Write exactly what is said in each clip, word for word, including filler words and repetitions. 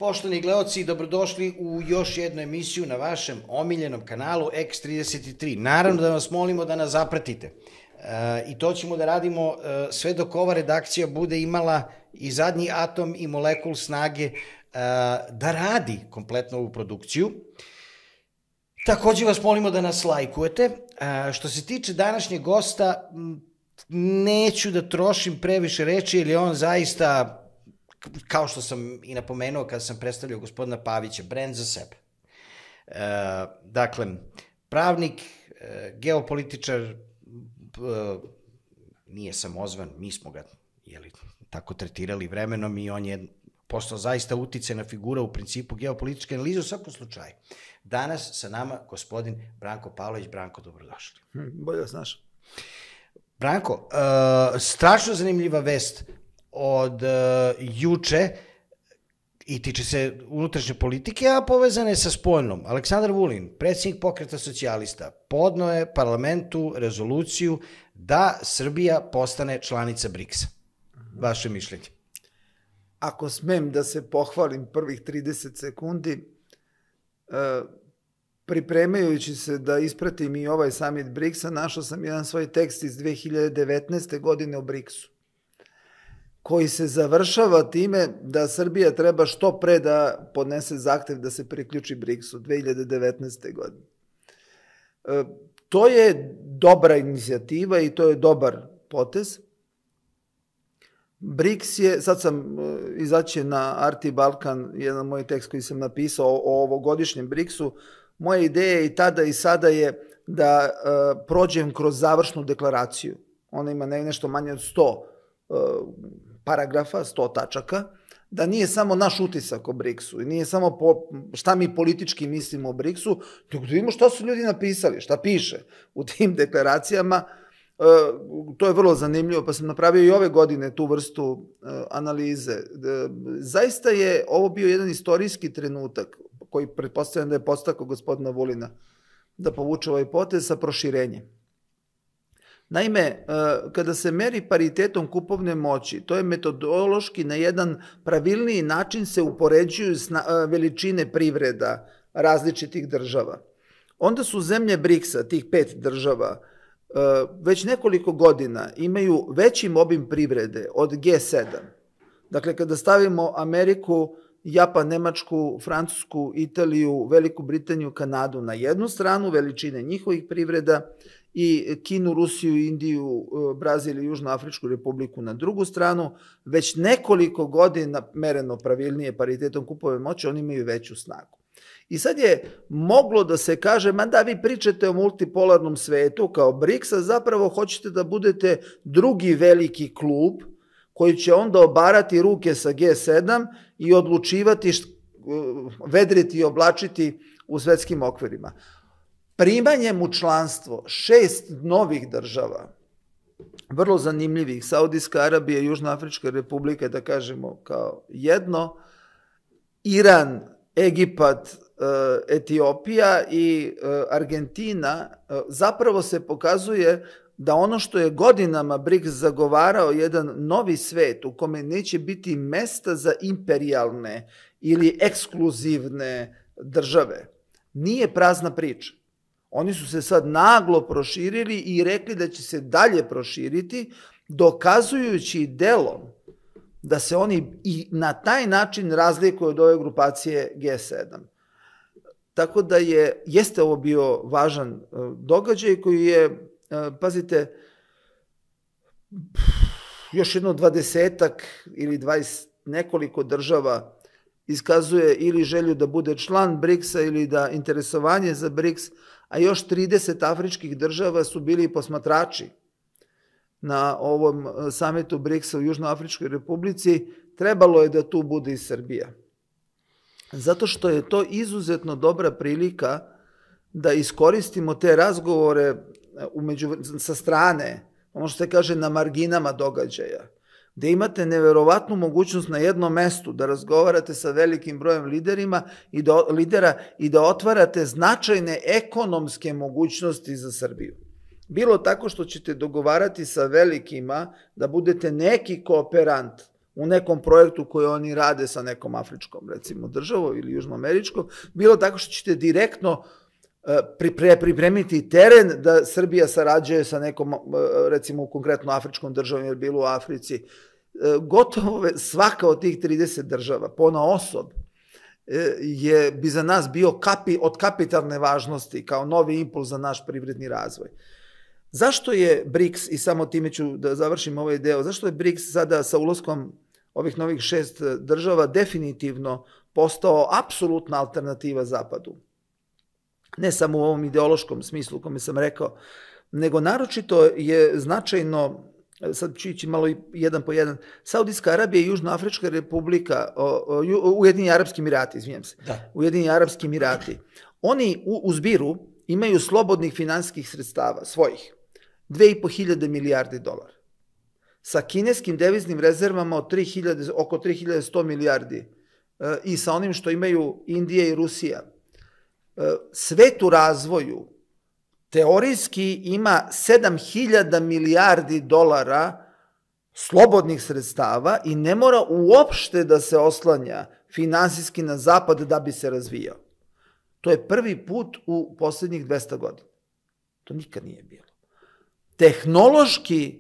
Poštovani gledaoci, dobrodošli u još jednu emisiju na vašem omiljenom kanalu X trideset tri. Naravno da vas molimo da nas zapratite. I to ćemo da radimo sve dok ova redakcija bude imala i zadnji atom i molekul snage da radi kompletno ovu produkciju. Takođe vas molimo da nas lajkujete. Što se tiče današnjeg gosta, neću da trošim previše reči, jer je on zaista, kao što sam i napomenuo kada sam predstavljao gospodina Pavića, brend za sebe. Dakle, pravnik, geopolitičar, nije samozvan, mi smo ga tako tretirali vremenom i on je postao zaista uticajna figura u principu geopolitičke analize u svakom slučaju. Danas sa nama gospodin Branko Pavlović. Branko, dobrodošli. Bolje vas našao. Branko, strašno zanimljiva vest od juče i tiče se unutrašnje politike, a povezane sa spoljnom. Aleksandar Vulin, predsjednik Pokreta socijalista, podneo je parlamentu rezoluciju da Srbija postane članica briksa. Vaše mišljenje? Ako smem da se pohvalim prvih trideset sekundi, pripremajući se da ispratim i ovaj summit briksa, našao sam jedan svoj tekst iz dve hiljade devetnaeste. godine o briksu, koji se završava time da Srbija treba što pre da podnese zahtev da se priključi briksu dve hiljade devetnaeste. godine. To je dobra inicijativa i to je dobar potez. briks je, sad sam izaći na Arti Balkan, jedan moj tekst koji sam napisao o ovogodišnjem briksu. Moja ideja i tada i sada je da prođem kroz završnu deklaraciju. Ona ima nešto manje od sto paragrafa, sto tačaka, da nije samo naš utisak o briksu i nije samo šta mi politički mislimo o briksu, nego da vidimo šta su ljudi napisali, šta piše u tim deklaracijama. To je vrlo zanimljivo, pa sam napravio i ove godine tu vrstu analize. Zaista je ovo bio jedan istorijski trenutak koji pretpostavljam da je podstakao gospodina Vulina da povuče ovaj potez sa proširenjem. Naime, kada se meri paritetom kupovne moći, to je metodološki na jedan pravilniji način se upoređuju veličine privreda različitih država. Onda su zemlje briksa, tih pet država, već nekoliko godina imaju veći obim privrede od G sedam. Dakle, kada stavimo Ameriku, Japan, Nemačku, Francusku, Italiju, Veliku Britaniju, Kanadu na jednu stranu, veličine njihovih privreda, i Kinu, Rusiju, Indiju, Brazil i Južnoafričku republiku na drugu stranu, već nekoliko godina, mereno pravilnije paritetom kupovne moći, oni imaju veću snagu. I sad je moglo da se kaže, ma da vi pričate o multipolarnom svetu kao briks, a zapravo hoćete da budete drugi veliki klub koji će onda obarati ruke sa G sedam i odlučivati, vedriti i oblačiti u svetskim okvirima. Primanjem u članstvo šest novih država, vrlo zanimljivih, Saudijska Arabija, Južnoafrička republika, da kažemo kao jedno, Iran, Egipat, Etiopija i Argentina, zapravo se pokazuje da ono što je godinama briks zagovarao, jedan novi svet u kome neće biti mesta za imperijalne ili ekskluzivne države, nije prazna priča. Oni su se sad naglo proširili i rekli da će se dalje proširiti, dokazujući delom da se oni i na taj način razlikuju od ove grupacije G sedam. Tako da je, jeste ovo bio važan događaj koji je, pazite, još jedno dvadesetak ili dvadeset nekoliko država iskazuje ili želju da bude član briksa ili da interesovanje za briks, a još trideset afričkih država su bili posmatrači na ovom samitu briksa u Južnoafričkoj republici. Trebalo je da tu bude i Srbija. Zato što je to izuzetno dobra prilika da iskoristimo te razgovore sa strane, ono što se kaže na marginama događaja, gde imate neverovatnu mogućnost na jednom mestu da razgovarate sa velikim brojem liderima i da, lidera i da otvarate značajne ekonomske mogućnosti za Srbiju. Bilo tako što ćete dogovarati sa velikima da budete neki kooperant u nekom projektu koji oni rade sa nekom afričkom, recimo, državom ili južnoameričkom, bilo tako što ćete direktno pripremiti teren da Srbija sarađuje sa nekom, recimo, konkretno afričkom državom, jer bilo u Africi. Gotovo svaka od tih trideset država, ponaosob, je bi za nas bio kapi, od kapitalne važnosti kao novi impuls za naš privredni razvoj. Zašto je BRICS, i samo time ću da završim ovaj deo, zašto je BRICS sada sa ulaskom ovih novih šest država definitivno postao apsolutna alternativa Zapadu? Ne samo u ovom ideološkom smislu u kome sam rekao, nego naročito je značajno, sad ću ići malo jedan po jedan, Saudijska Arabija i Južnoafrička Republika, Ujedinjeni Arapski Emirati, izvinjam se, da. Ujedinjeni Arapski Emirati, oni u, u zbiru imaju slobodnih finansijskih sredstava, svojih, dve i po hiljade milijardi dolara. Sa kineskim deviznim rezervama od tri hiljade, oko tri hiljade sto milijardi i sa onim što imaju Indija i Rusija. Svet u razvoju teorijski ima sedam hiljada milijardi dolara slobodnih sredstava i ne mora uopšte da se oslanja finansijski na zapad da bi se razvijao. To je prvi put u poslednjih dvesta godina. To nikad nije bilo. Tehnološki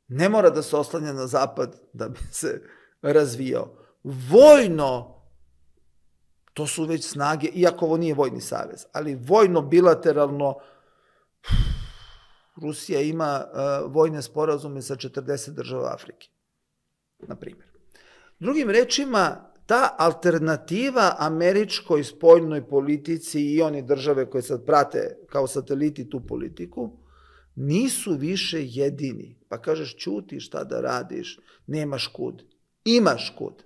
ne mora da se oslanja na zapad da bi se razvijao. Vojno, to su već snage, iako ovo nije vojni savez, ali vojno, bilateralno, Rusija ima uh, vojne sporazume sa četrdeset država Afrike, na primjer. Drugim rečima, ta alternativa američkoj spoljnoj politici i one države koje sad prate kao sateliti tu politiku, nisu više jedini. Pa kažeš, ćuti, šta da radiš, nemaš kud. Imaš kud.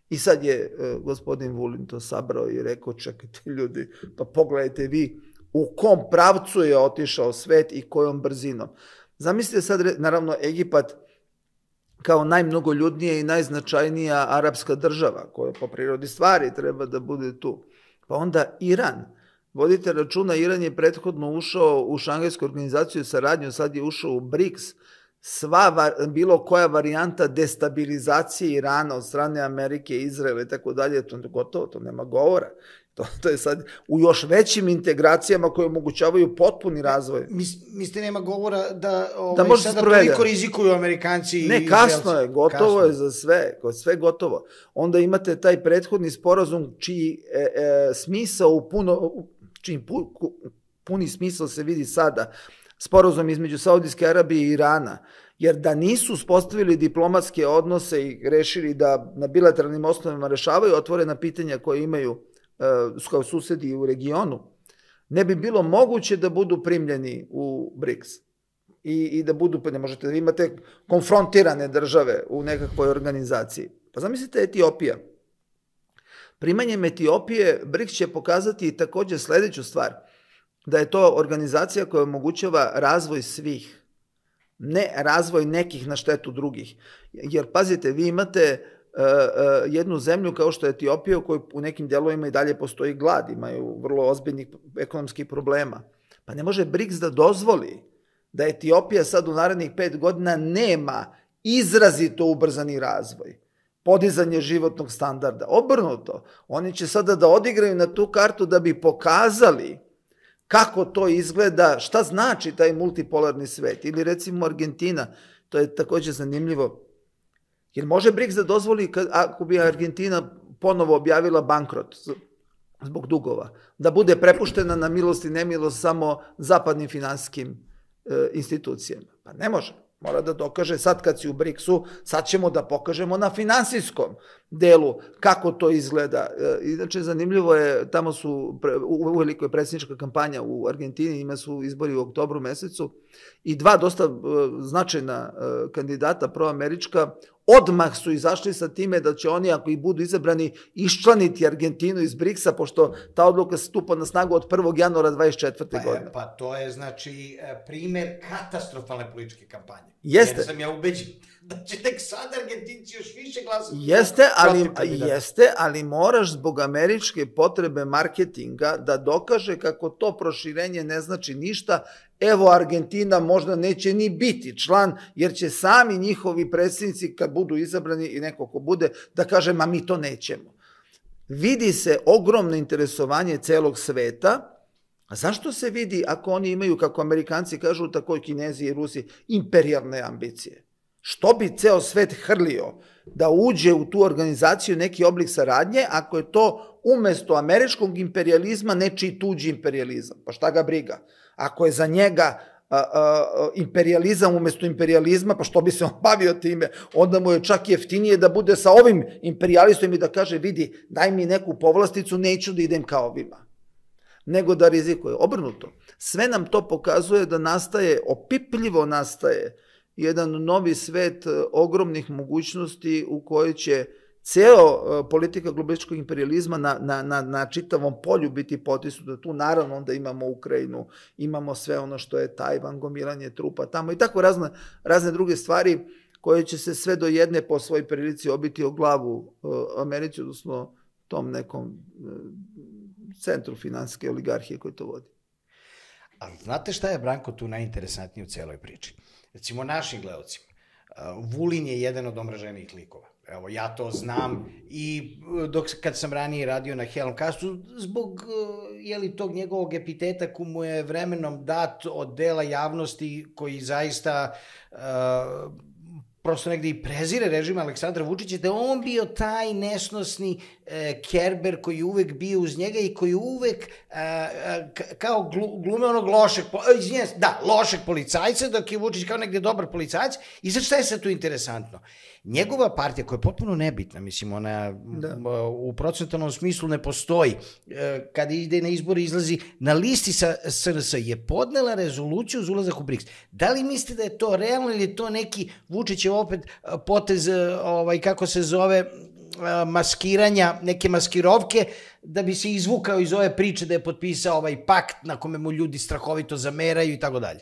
I sad je uh, gospodin Vulin to sabrao i rekao, čekajte ljudi, pa pogledajte vi u kom pravcu je otišao svet i kojom brzinom. Zamislite sad, naravno, Egipat kao najmnogoljudnija i najznačajnija arapska država, koja po prirodi stvari treba da bude tu. Pa onda Iran. Vodite računa, Iran je prethodno ušao u Šangajsku organizaciju saradnju, sad je ušao u BRICS. Sva, bilo koja varijanta destabilizacije Irana od strane Amerike, Izraela i tako dalje, to je gotovo, to nema govora. To, to je sad u još većim integracijama koje omogućavaju potpuni razvoj. Mislite, nema govora da, ovaj, da sada toliko rizikuju Amerikanci i Ne, kasno je, gotovo kasno je za sve, sve gotovo. Onda imate taj prethodni sporazum čiji e, e, smisao u puno, čiji pu, puni smisao se vidi sada, sporazum između Saudijske Arabije i Irana, jer da nisu uspostavili diplomatske odnose i rešili da na bilateralnim osnovama rešavaju otvorena pitanja koje imaju kao susedi u regionu, ne bi bilo moguće da budu primljeni u BRICS. I, i da budu, pa ne možete da imate konfrontirane države u nekakvoj organizaciji. Pa zamislite Etiopija. Primanjem Etiopije BRICS će pokazati takođe sledeću stvar, da je to organizacija koja omogućava razvoj svih, ne razvoj nekih na štetu drugih. Jer, pazite, vi imate jednu zemlju kao što je Etiopija, u kojoj u nekim delovima i dalje postoji glad, imaju vrlo ozbiljnih ekonomskih problema. Pa ne može BRICS da dozvoli da Etiopija sad u narednih pet godina nema izrazito ubrzani razvoj, podizanje životnog standarda. Obrnuto, oni će sada da odigraju na tu kartu da bi pokazali kako to izgleda, šta znači taj multipolarni svet. Ili recimo Argentina, to je takođe zanimljivo. Jer može BRICS da dozvoli, ako bi Argentina ponovo objavila bankrot zbog dugova, da bude prepuštena na milost i nemilost samo zapadnim finansijskim e, institucijama? Pa ne može. Mora da dokaže, sad kad si u BRICS-u, sad ćemo da pokažemo na finansijskom delu kako to izgleda. E, inače, zanimljivo je, tamo su, uveliko je predsjednička kampanja u Argentini, ima su izbori u oktobru mesecu, i dva dosta e, značajna e, kandidata proamerička odmah su izašli sa time da će oni, ako i budu izabrani, iščlaniti Argentinu iz BRICS-a, pošto ta odluka stupa na snagu od prvog januara dvadeset četvrte Pa, godine. pa to je, znači, primer katastrofalne političke kampanje. Jeste. Jer sam ja ubeđen da će tek sad Argentinci još više glasati. Jeste, ali, jeste, ali moraš zbog američke potrebe marketinga da dokaže kako to proširenje ne znači ništa, evo Argentina možda neće ni biti član, jer će sami njihovi predsjednici, kad budu izabrani i neko ko bude, da kaže, ma mi to nećemo. Vidi se ogromno interesovanje celog sveta. A zašto se vidi ako oni imaju, kako Amerikanci kažu, tako i Kinezi i Rusi, imperijalne ambicije? Što bi ceo svet hrlio da uđe u tu organizaciju neki oblik saradnje, ako je to umesto američkog imperializma nečiji tuđi imperializam? Pa šta ga briga? Ako je za njega a, a, imperializam umesto imperializma, pa što bi se on bavio time? Onda mu je čak jeftinije da bude sa ovim imperialistom i da kaže, vidi, daj mi neku povlasticu, neću da idem kao ovima, nego da rizikuje. Obrnuto. Sve nam to pokazuje da nastaje, opipljivo nastaje, jedan novi svet ogromnih mogućnosti u kojoj će ceo politika globalističkog imperializma na, na, na, na čitavom polju biti potisnuta. Tu naravno onda imamo Ukrajinu, imamo sve ono što je Tajvan, gomilanje trupa tamo i tako razne, razne druge stvari koje će se sve do jedne po svojoj prilici obiti o glavu Americi, odnosno tom nekom centru finansijske oligarhije koji to vodi. Ali znate šta je, Branko, tu najinteresantnije u celoj priči? Recimo našim gledalcima, Vulin je jedan od omraženijih likova. Evo, ja to znam i dok, kad sam ranije radio na Helmcastu, zbog jeli, tog njegovog epiteta ko mu je vremenom dat od dela javnosti koji zaista uh, prosto negde i prezire režim Aleksandra Vučića, da on bio taj nesnosni e, Kerber koji je uvek bio uz njega i koji uvek e, kao glu, glume onog lošeg, izvinjam se, da, lošeg policajca, dok je Vučić kao negde dobar policajac. I sad šta je sad tu interesantno? Njegova partija, koja je potpuno nebitna, mislim, ona da. u procentalnom smislu ne postoji, e, kada ide na izbore izlazi na listi sa S R S, je podnela rezoluciju za ulazak u BRIKS. Da li mislite da je to realno ili je to neki Vučićev opet potez, ovaj, kako se zove, maskiranja, neke maskirovke, da bi se izvukao iz ove priče da je potpisao ovaj pakt na kome mu ljudi strahovito zameraju i tako dalje?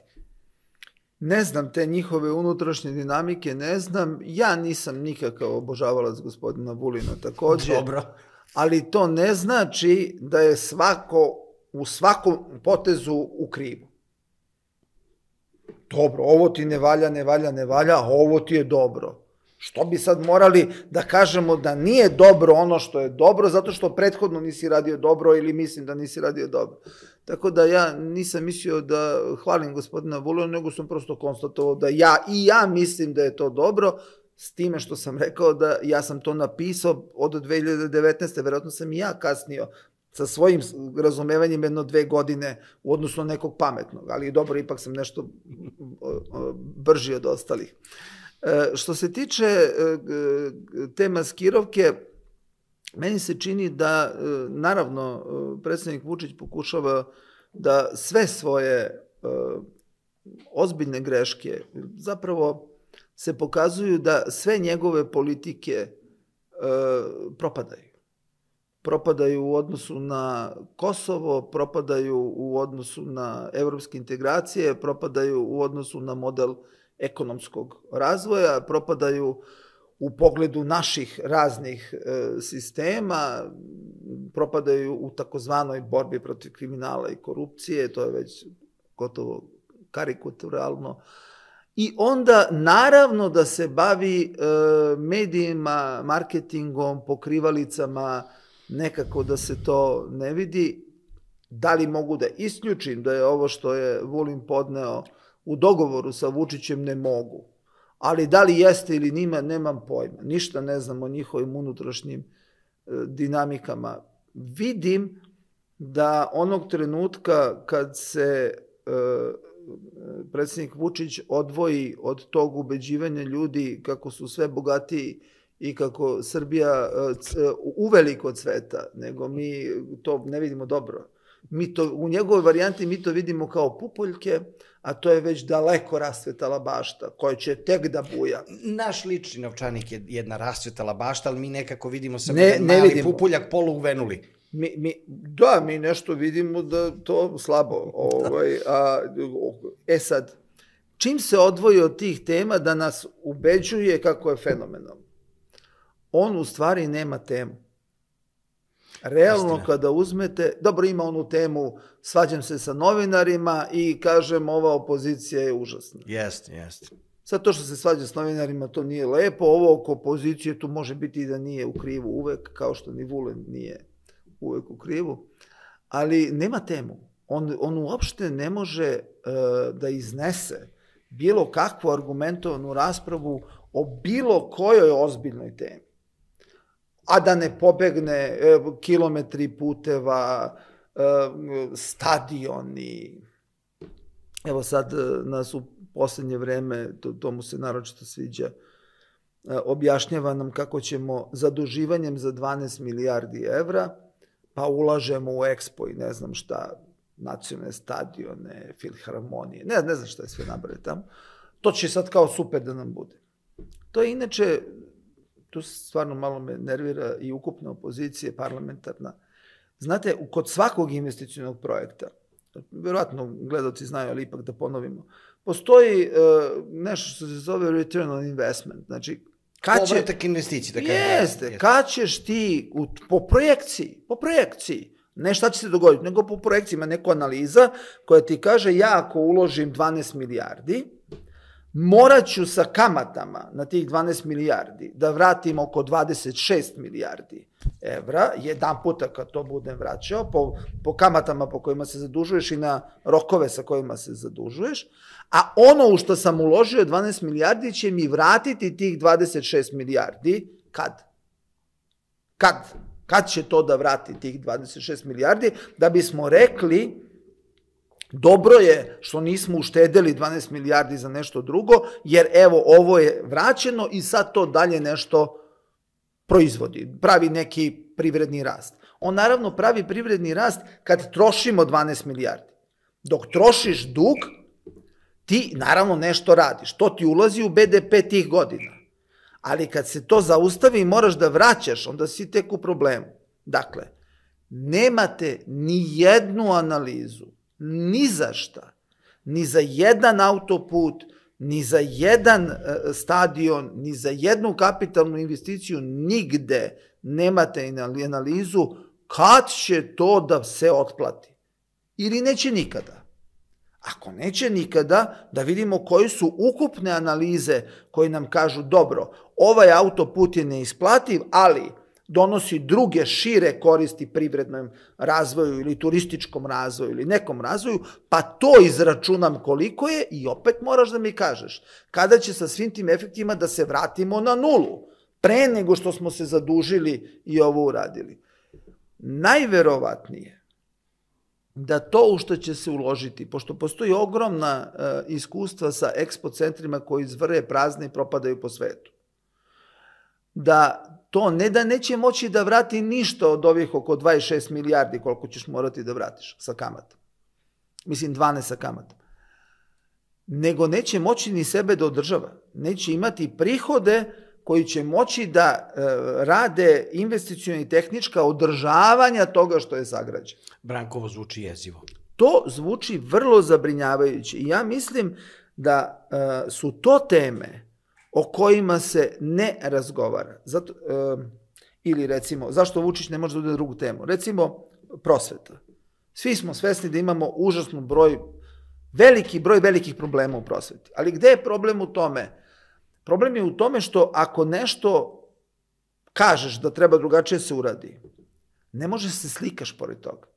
Ne znam te njihove unutrašnje dinamike, ne znam. Ja nisam nikakav obožavalac gospodina Vulina takođe. Dobro. Ali to ne znači da je svako u svakom potezu u krivu. Dobro, ovo ti ne valja, ne valja, ne valja, a ovo ti je dobro. Što bi sad morali da kažemo da nije dobro ono što je dobro, zato što prethodno nisi radio dobro ili mislim da nisi radio dobro. Tako da ja nisam mislio da hvalim gospodina Vulina, nego sam prosto konstatovao da ja i ja mislim da je to dobro, s time što sam rekao da ja sam to napisao od dve hiljade devetnaeste. Verovatno sam i ja kasnio sa svojim razumevanjem jedno dve godine u odnosu na nekog pametnog, ali dobro, ipak sam nešto brži od ostalih. Što se tiče te maskirovke, meni se čini da, naravno, predsjednik Vučić pokušava da sve svoje ozbiljne greške zapravo se pokazuju da sve njegove politike propadaju. Propadaju u odnosu na Kosovo, propadaju u odnosu na evropske integracije, propadaju u odnosu na model ekonomskog razvoja, propadaju u pogledu naših raznih e, sistema, propadaju u takozvanoj borbi protiv kriminala i korupcije, to je već gotovo karikaturalno. I onda naravno da se bavi e, medijima, marketingom, pokrivalicama, nekako da se to ne vidi. Da li mogu da isključim da je ovo što je Vulin podneo u dogovoru sa Vučićem? Ne mogu. Ali da li jeste ili nima, nemam pojma. Ništa ne znam o njihovim unutrašnjim e, dinamikama. Vidim da onog trenutka kad se e, predsjednik Vučić odvoji od tog ubeđivanja ljudi kako su sve bogatiji i kako Srbija uveliko cveta, nego mi to ne vidimo dobro. Mi to, u njegovoj varijanti mi to vidimo kao pupoljke, a to je već daleko rasvetala bašta, koja će tek da buja. Naš lični novčanik je jedna rasvetala bašta, ali mi nekako vidimo samo ne, ne mali vidimo. Pupoljak polu uvenuli. Mi, mi, da, mi nešto vidimo da to slabo. Ovaj, a, e sad, čim se odvoji od tih tema da nas ubeđuje kako je fenomenalno, on u stvari nema temu. Realno Istina. kada uzmete, dobro ima onu temu, svađam se sa novinarima i kažem ova opozicija je užasna. Jeste, jeste. Sad to što se svađa s novinarima, to nije lepo, ovo oko opozicije tu može biti i da nije u krivu uvek, kao što ni Vulin nije uvek u krivu, ali nema temu. On, on uopšte ne može uh, da iznese bilo kakvu argumentovanu raspravu o bilo kojoj ozbiljnoj temi. A da ne pobegne e, kilometri puteva, e, stadioni. Evo sad nas u poslednje vreme, to, to mu se naročito sviđa, e, objašnjava nam kako ćemo zaduživanjem za dvanaest milijardi evra, pa ulažemo u Expo i ne znam šta, nacionalne stadione, filharmonije, ne, ne znam šta je sve nabrali tamo. To će sad kao super da nam bude. To je inače, tu stvarno malo me nervira i ukupna opozicija parlamentarna. Znate, kod svakog investicionog projekta, verovatno gledalci znaju, ali ipak da ponovimo, postoji uh, nešto što se zove return on investment. Znači, kad će... Povratak investicije, da kažem. Jeste, jeste, kad ćeš ti, u, po projekciji, po projekciji, ne šta će se dogoditi, nego po projekciji ima neka analiza koja ti kaže ja ako uložim dvanaest milijardi, morat ću sa kamatama na tih dvanaest milijardi da vratim oko dvadeset šest milijardi evra, jedan puta kad to budem vraćao, po, po kamatama po kojima se zadužuješ i na rokove sa kojima se zadužuješ, a ono u što sam uložio dvanaest milijardi će mi vratiti tih dvadeset šest milijardi, kad? Kad? Kad će to da vrati tih dvadeset šest milijardi, da bismo rekli dobro je što nismo uštedeli dvanaest milijardi za nešto drugo, jer evo ovo je vraćeno i sad to dalje nešto proizvodi, pravi neki privredni rast. On naravno pravi privredni rast kad trošimo dvanaest milijardi. Dok trošiš dug, ti naravno nešto radiš, to ti ulazi u be de pe tih godina. Ali kad se to zaustavi i moraš da vraćaš, onda si tek u problemu. Dakle, nemate ni jednu analizu, ni za šta, ni za jedan autoput, ni za jedan stadion, ni za jednu kapitalnu investiciju, nigde nemate analizu kad će to da se otplati. Ili neće nikada. Ako neće nikada, da vidimo koji su ukupne analize koje nam kažu dobro, ovaj autoput je neisplativ, ali donosi druge šire koristi privrednom razvoju ili turističkom razvoju ili nekom razvoju, pa to izračunam koliko je i opet moraš da mi kažeš kada će sa svim tim efektima da se vratimo na nulu, pre nego što smo se zadužili i ovo uradili. Najverovatnije da to u što će se uložiti, pošto postoji ogromna uh, iskustva sa ekspo centrima koji izvrje prazne i propadaju po svetu, da to ne da neće moći da vrati ništa od ovih oko dvadeset šest milijardi koliko ćeš morati da vratiš sa kamatom. Mislim dvanaest sa kamatom. Nego neće moći ni sebe da održava. Neće imati prihode koji će moći da e, rade investiciona i tehnička održavanja toga što je sagrađeno. Brankovo zvuči jezivo. To zvuči vrlo zabrinjavajuće i ja mislim da e, su to teme o kojima se ne razgovara. Zato, e, ili recimo, zašto Vučić ne može da ude drugu temu? Recimo, prosveta. Svi smo svesni da imamo užasno broj, veliki broj velikih problema u prosveti. Ali gde je problem u tome? Problem je u tome što ako nešto kažeš da treba drugačije se uradi, ne može se slikaš pored toga.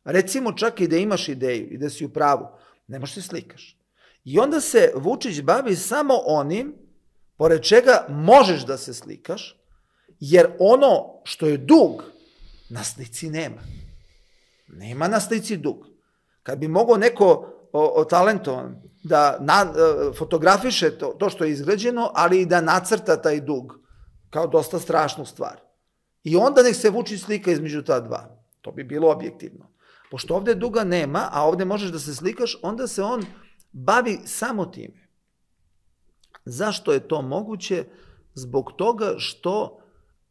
Recimo čak i da imaš ideju i da si u pravu, ne možeš se slikaš. I onda se Vučić bavi samo onim pored čega možeš da se slikaš, jer ono što je dug, na slici nema. Nema na slici dug. Kad bi mogao neko o, o talentovan da na, fotografiše to, to što je izgrađeno, ali i da nacrta taj dug, kao dosta strašnu stvar. I onda nek se Vučić slika između ta dva. To bi bilo objektivno. Pošto ovde duga nema, a ovde možeš da se slikaš, onda se on bavi samo time. Zašto je to moguće? Zbog toga što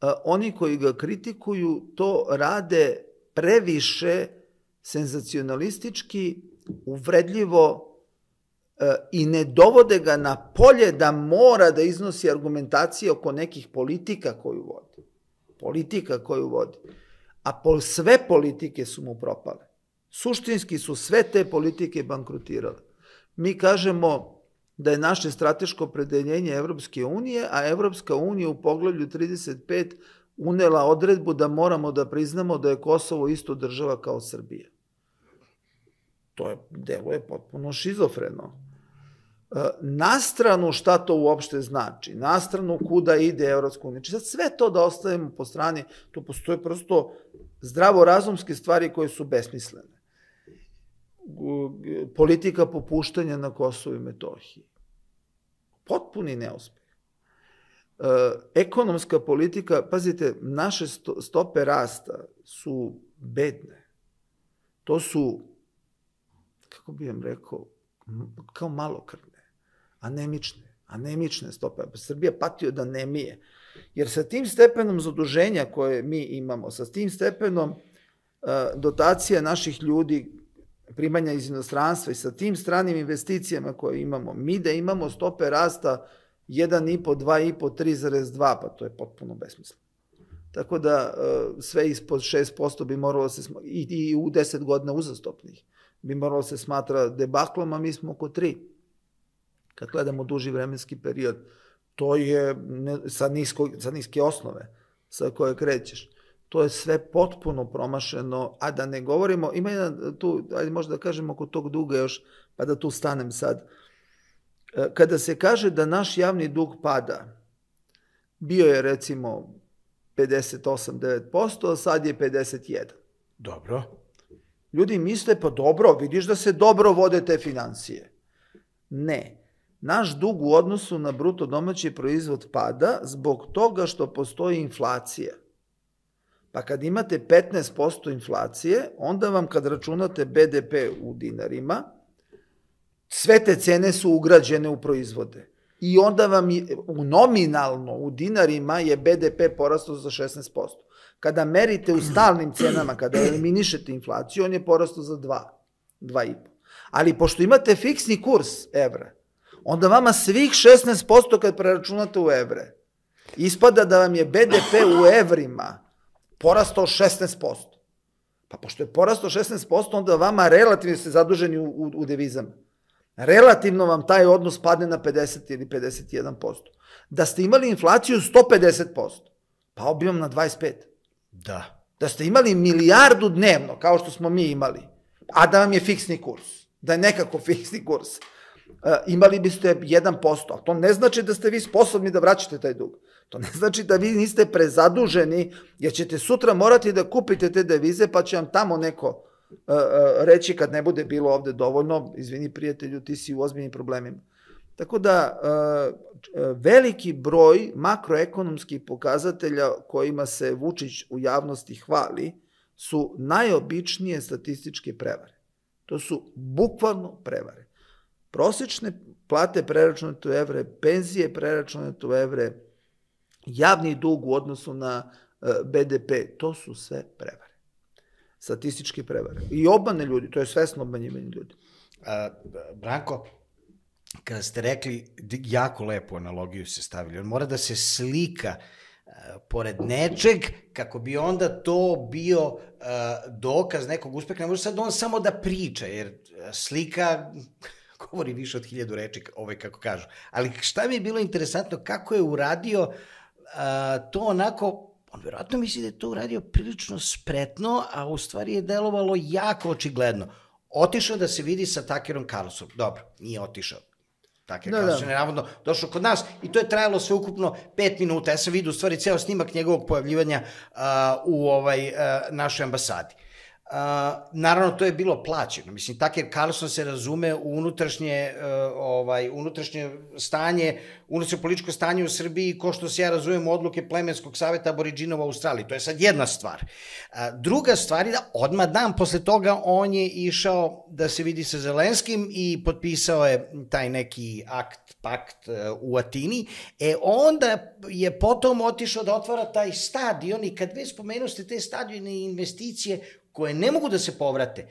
a, oni koji ga kritikuju to rade previše senzacionalistički, uvredljivo a, i ne dovode ga na polje da mora da iznosi argumentacije oko nekih politika koju vodi. Politika koju vodi. a po sve politike su mu propale. Suštinski su sve te politike bankrotirale. Mi kažemo da je naše strateško opredeljenje Evropske unije, a Evropska unija u poglavlju trideset pet unela odredbu da moramo da priznamo da je Kosovo isto država kao Srbija. To je, deluje potpuno šizofreno. Na stranu šta to uopšte znači, na stranu kuda ide Evropska unija. Sad sve to da ostavimo po strani, to postoje prosto zdravorazumske stvari koje su besmislene. Politika popuštanja na Kosovu i Metohiji. Potpuni neuspeh. Ekonomska politika, pazite, naše stope rasta su bedne. To su, kako bih vam rekao, kao malokrvne, anemične, anemične stope. Srbija pati od anemije. Jer sa tim stepenom zaduženja koje mi imamo, sa tim stepenom dotacija naših ljudi, primanja iz inostranstva i sa tim stranim investicijama koje imamo, mi da imamo stope rasta jedan i po, dva i po, tri zarez dva, pa to je potpuno besmisleno. Tako da sve ispod šest posto bi moralo se, i u deset godina uzastopnih, bi moralo se smatra debaklom, a mi smo oko tri. Kad gledamo duži vremenski period, to je sa, nisko, sa niske osnove sa koje krećeš. To je sve potpuno promašeno, a da ne govorimo, ima jedan tu, ajde možda da kažem oko tog duga još, pa da tu stanem sad. Kada se kaže da naš javni dug pada, bio je recimo pedeset osam do devet posto, a sad je pedeset jedan. Dobro. Ljudi misle, pa dobro, vidiš da se dobro vode te financije. Ne. Naš dug u odnosu na bruto domaći proizvod pada zbog toga što postoji inflacija. Pa kad imate petnaest posto inflacije, onda vam kad računate be de pe u dinarima, sve te cene su ugrađene u proizvode. I onda vam je, u nominalno u dinarima je be de pe porastao za šesnaest posto. Kada merite u stalnim cenama, kada eliminišete inflaciju, on je porastao za dva, dva i po. Ali pošto imate fiksni kurs evra, onda vama svih šesnaest posto kad preračunate u evre, ispada da vam je be de pe u evrima porastao šesnaest posto. Pa pošto je porastao šesnaest posto, onda vama relativno ste zaduženi u, u, u devizama. Relativno vam taj odnos padne na pedeset ili pedeset jedan posto. Da ste imali inflaciju sto pedeset posto, pao bi vam na dvadeset pet. Da. Da ste imali milijardu dnevno, kao što smo mi imali, a da vam je fiksni kurs, da je nekako fiksni kurs, imali biste jedan posto, a to ne znači da ste vi sposobni da vraćate taj dug. To ne znači da vi niste prezaduženi, jer ćete sutra morati da kupite te devize, pa će vam tamo neko reći kad ne bude bilo ovde dovoljno, izvini prijatelju, ti si u ozbiljnim problemima. Tako da, veliki broj makroekonomskih pokazatelja kojima se Vučić u javnosti hvali su najobičnije statističke prevare. To su bukvalno prevare. Prosečne plate preračunate u evre, penzije preračunate u evre, javni dug u odnosu na be de pe, to su sve prevare. Statističke prevare. I obmane ljudi, to je svesno obmanjivanje ljudi. A, Branko, kada ste rekli, jako lepu analogiju se stavili, on mora da se slika uh, pored nečeg, kako bi onda to bio uh, dokaz nekog uspeha. Ne može sad on samo da priča, jer slika govori više od hiljadu reči, ovaj kako kažu. Ali šta mi je bilo interesantno, kako je uradio uh, to onako, on vjerojatno misli da je to uradio prilično spretno, a u stvari je delovalo jako očigledno. Otišao da se vidi sa Tuckerom Carlsonom. Dobro, nije otišao. Tucker Carlson je navodno došao kod nas i to je trajalo sve ukupno pet minuta. Ja sam vidio u stvari ceo snimak njegovog pojavljivanja uh, u ovaj, uh, našoj ambasadi. Uh, naravno, to je bilo plaćeno. Mislim, Tucker Carlson se razume u unutrašnje, uh, ovaj, unutrašnje stanje, unutrašnje političko stanje u Srbiji, ko što se ja razumem odluke Plemenskog saveta aboriđinova u Australiji. To je sad jedna stvar. Uh, druga stvar je da odmah dan posle toga on je išao da se vidi sa Zelenskim i potpisao je taj neki akt, pakt uh, u Atini. E onda je potom otišao da otvara taj stadion i kad već spomenuste te stadione i investicije koje ne mogu da se povrate,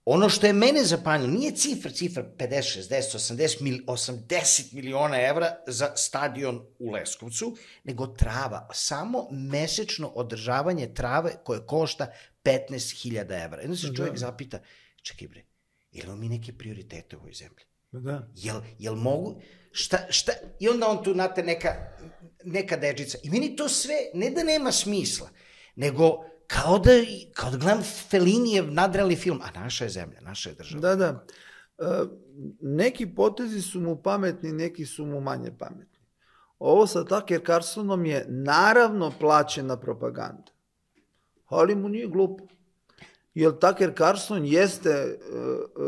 ono što je mene zapanjilo, nije cifra, cifra pedeset, šezdeset, osamdeset, osamdeset miliona evra za stadion u Leskovcu, nego trava. Samo mesečno održavanje trave koje košta petnaest hiljada evra. Jedno se čovjek zapita, čekaj bre, imamo mi neke prioritete u ovoj zemlji? Da. Jel, jel mogu, šta, šta, i onda on tu, znate, neka, neka dečica. I meni to sve, ne da nema smisla, nego kao da, kao da gledam Felinijev nadrealni film, a naša je zemlja, naša je država. Da, da. E, neki potezi su mu pametni, neki su mu manje pametni. Ovo sa Tucker Carlsonom je naravno plaćena propaganda, ali mu nije glupo. Jer Tucker Carlson jeste e,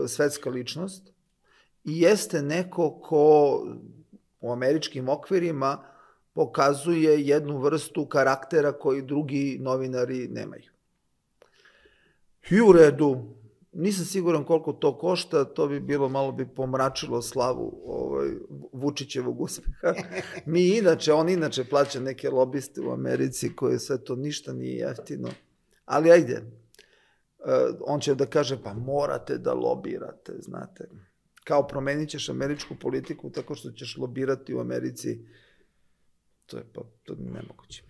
svetska ličnost i jeste neko ko u američkim okvirima pokazuje jednu vrstu karaktera koji drugi novinari nemaju. I u redu, nisam siguran koliko to košta, to bi bilo, malo bi pomračilo slavu ovaj, Vučićevog uspeha. Mi inače, on inače plaća neke lobiste u Americi koje sve to ništa nije jeftino. Ali ajde, on će da kaže, pa morate da lobirate, znate. Kao promenit ćeš američku politiku tako što ćeš lobirati u Americi. To je pa, to nemoguće.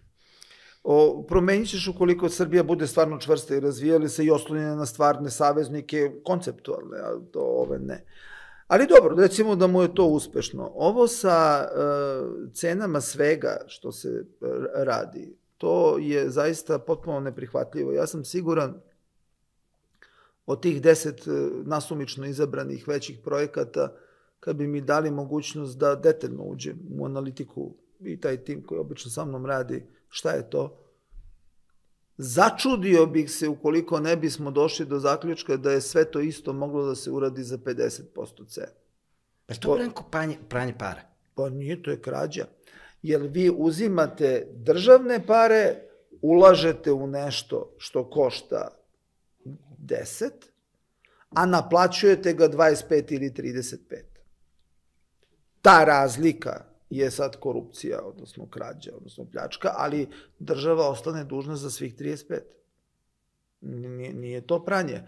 O, promenit ćeš ukoliko Srbija bude stvarno čvrsta i razvijali se i oslonjena na stvarne saveznike, konceptualne, a to ove ne. Ali dobro, recimo da mu je to uspešno. Ovo sa uh, cenama svega što se radi, to je zaista potpuno neprihvatljivo. Ja sam siguran od tih deset nasumično izabranih većih projekata, kad bi mi dali mogućnost da detaljno uđem u analitiku i taj tim koji obično sa mnom radi, šta je to? Začudio bih se ukoliko ne bismo došli do zaključka da je sve to isto moglo da se uradi za pedeset posto cena. Pa to je pranje, pranje para? Pa nije, to je krađa. Jer vi uzimate državne pare, ulažete u nešto što košta deset, a naplaćujete ga dvadeset pet ili trideset pet. Ta razlika je sad korupcija, odnosno krađa, odnosno pljačka, ali država ostane dužna za svih trideset pet. Nije, nije to pranje.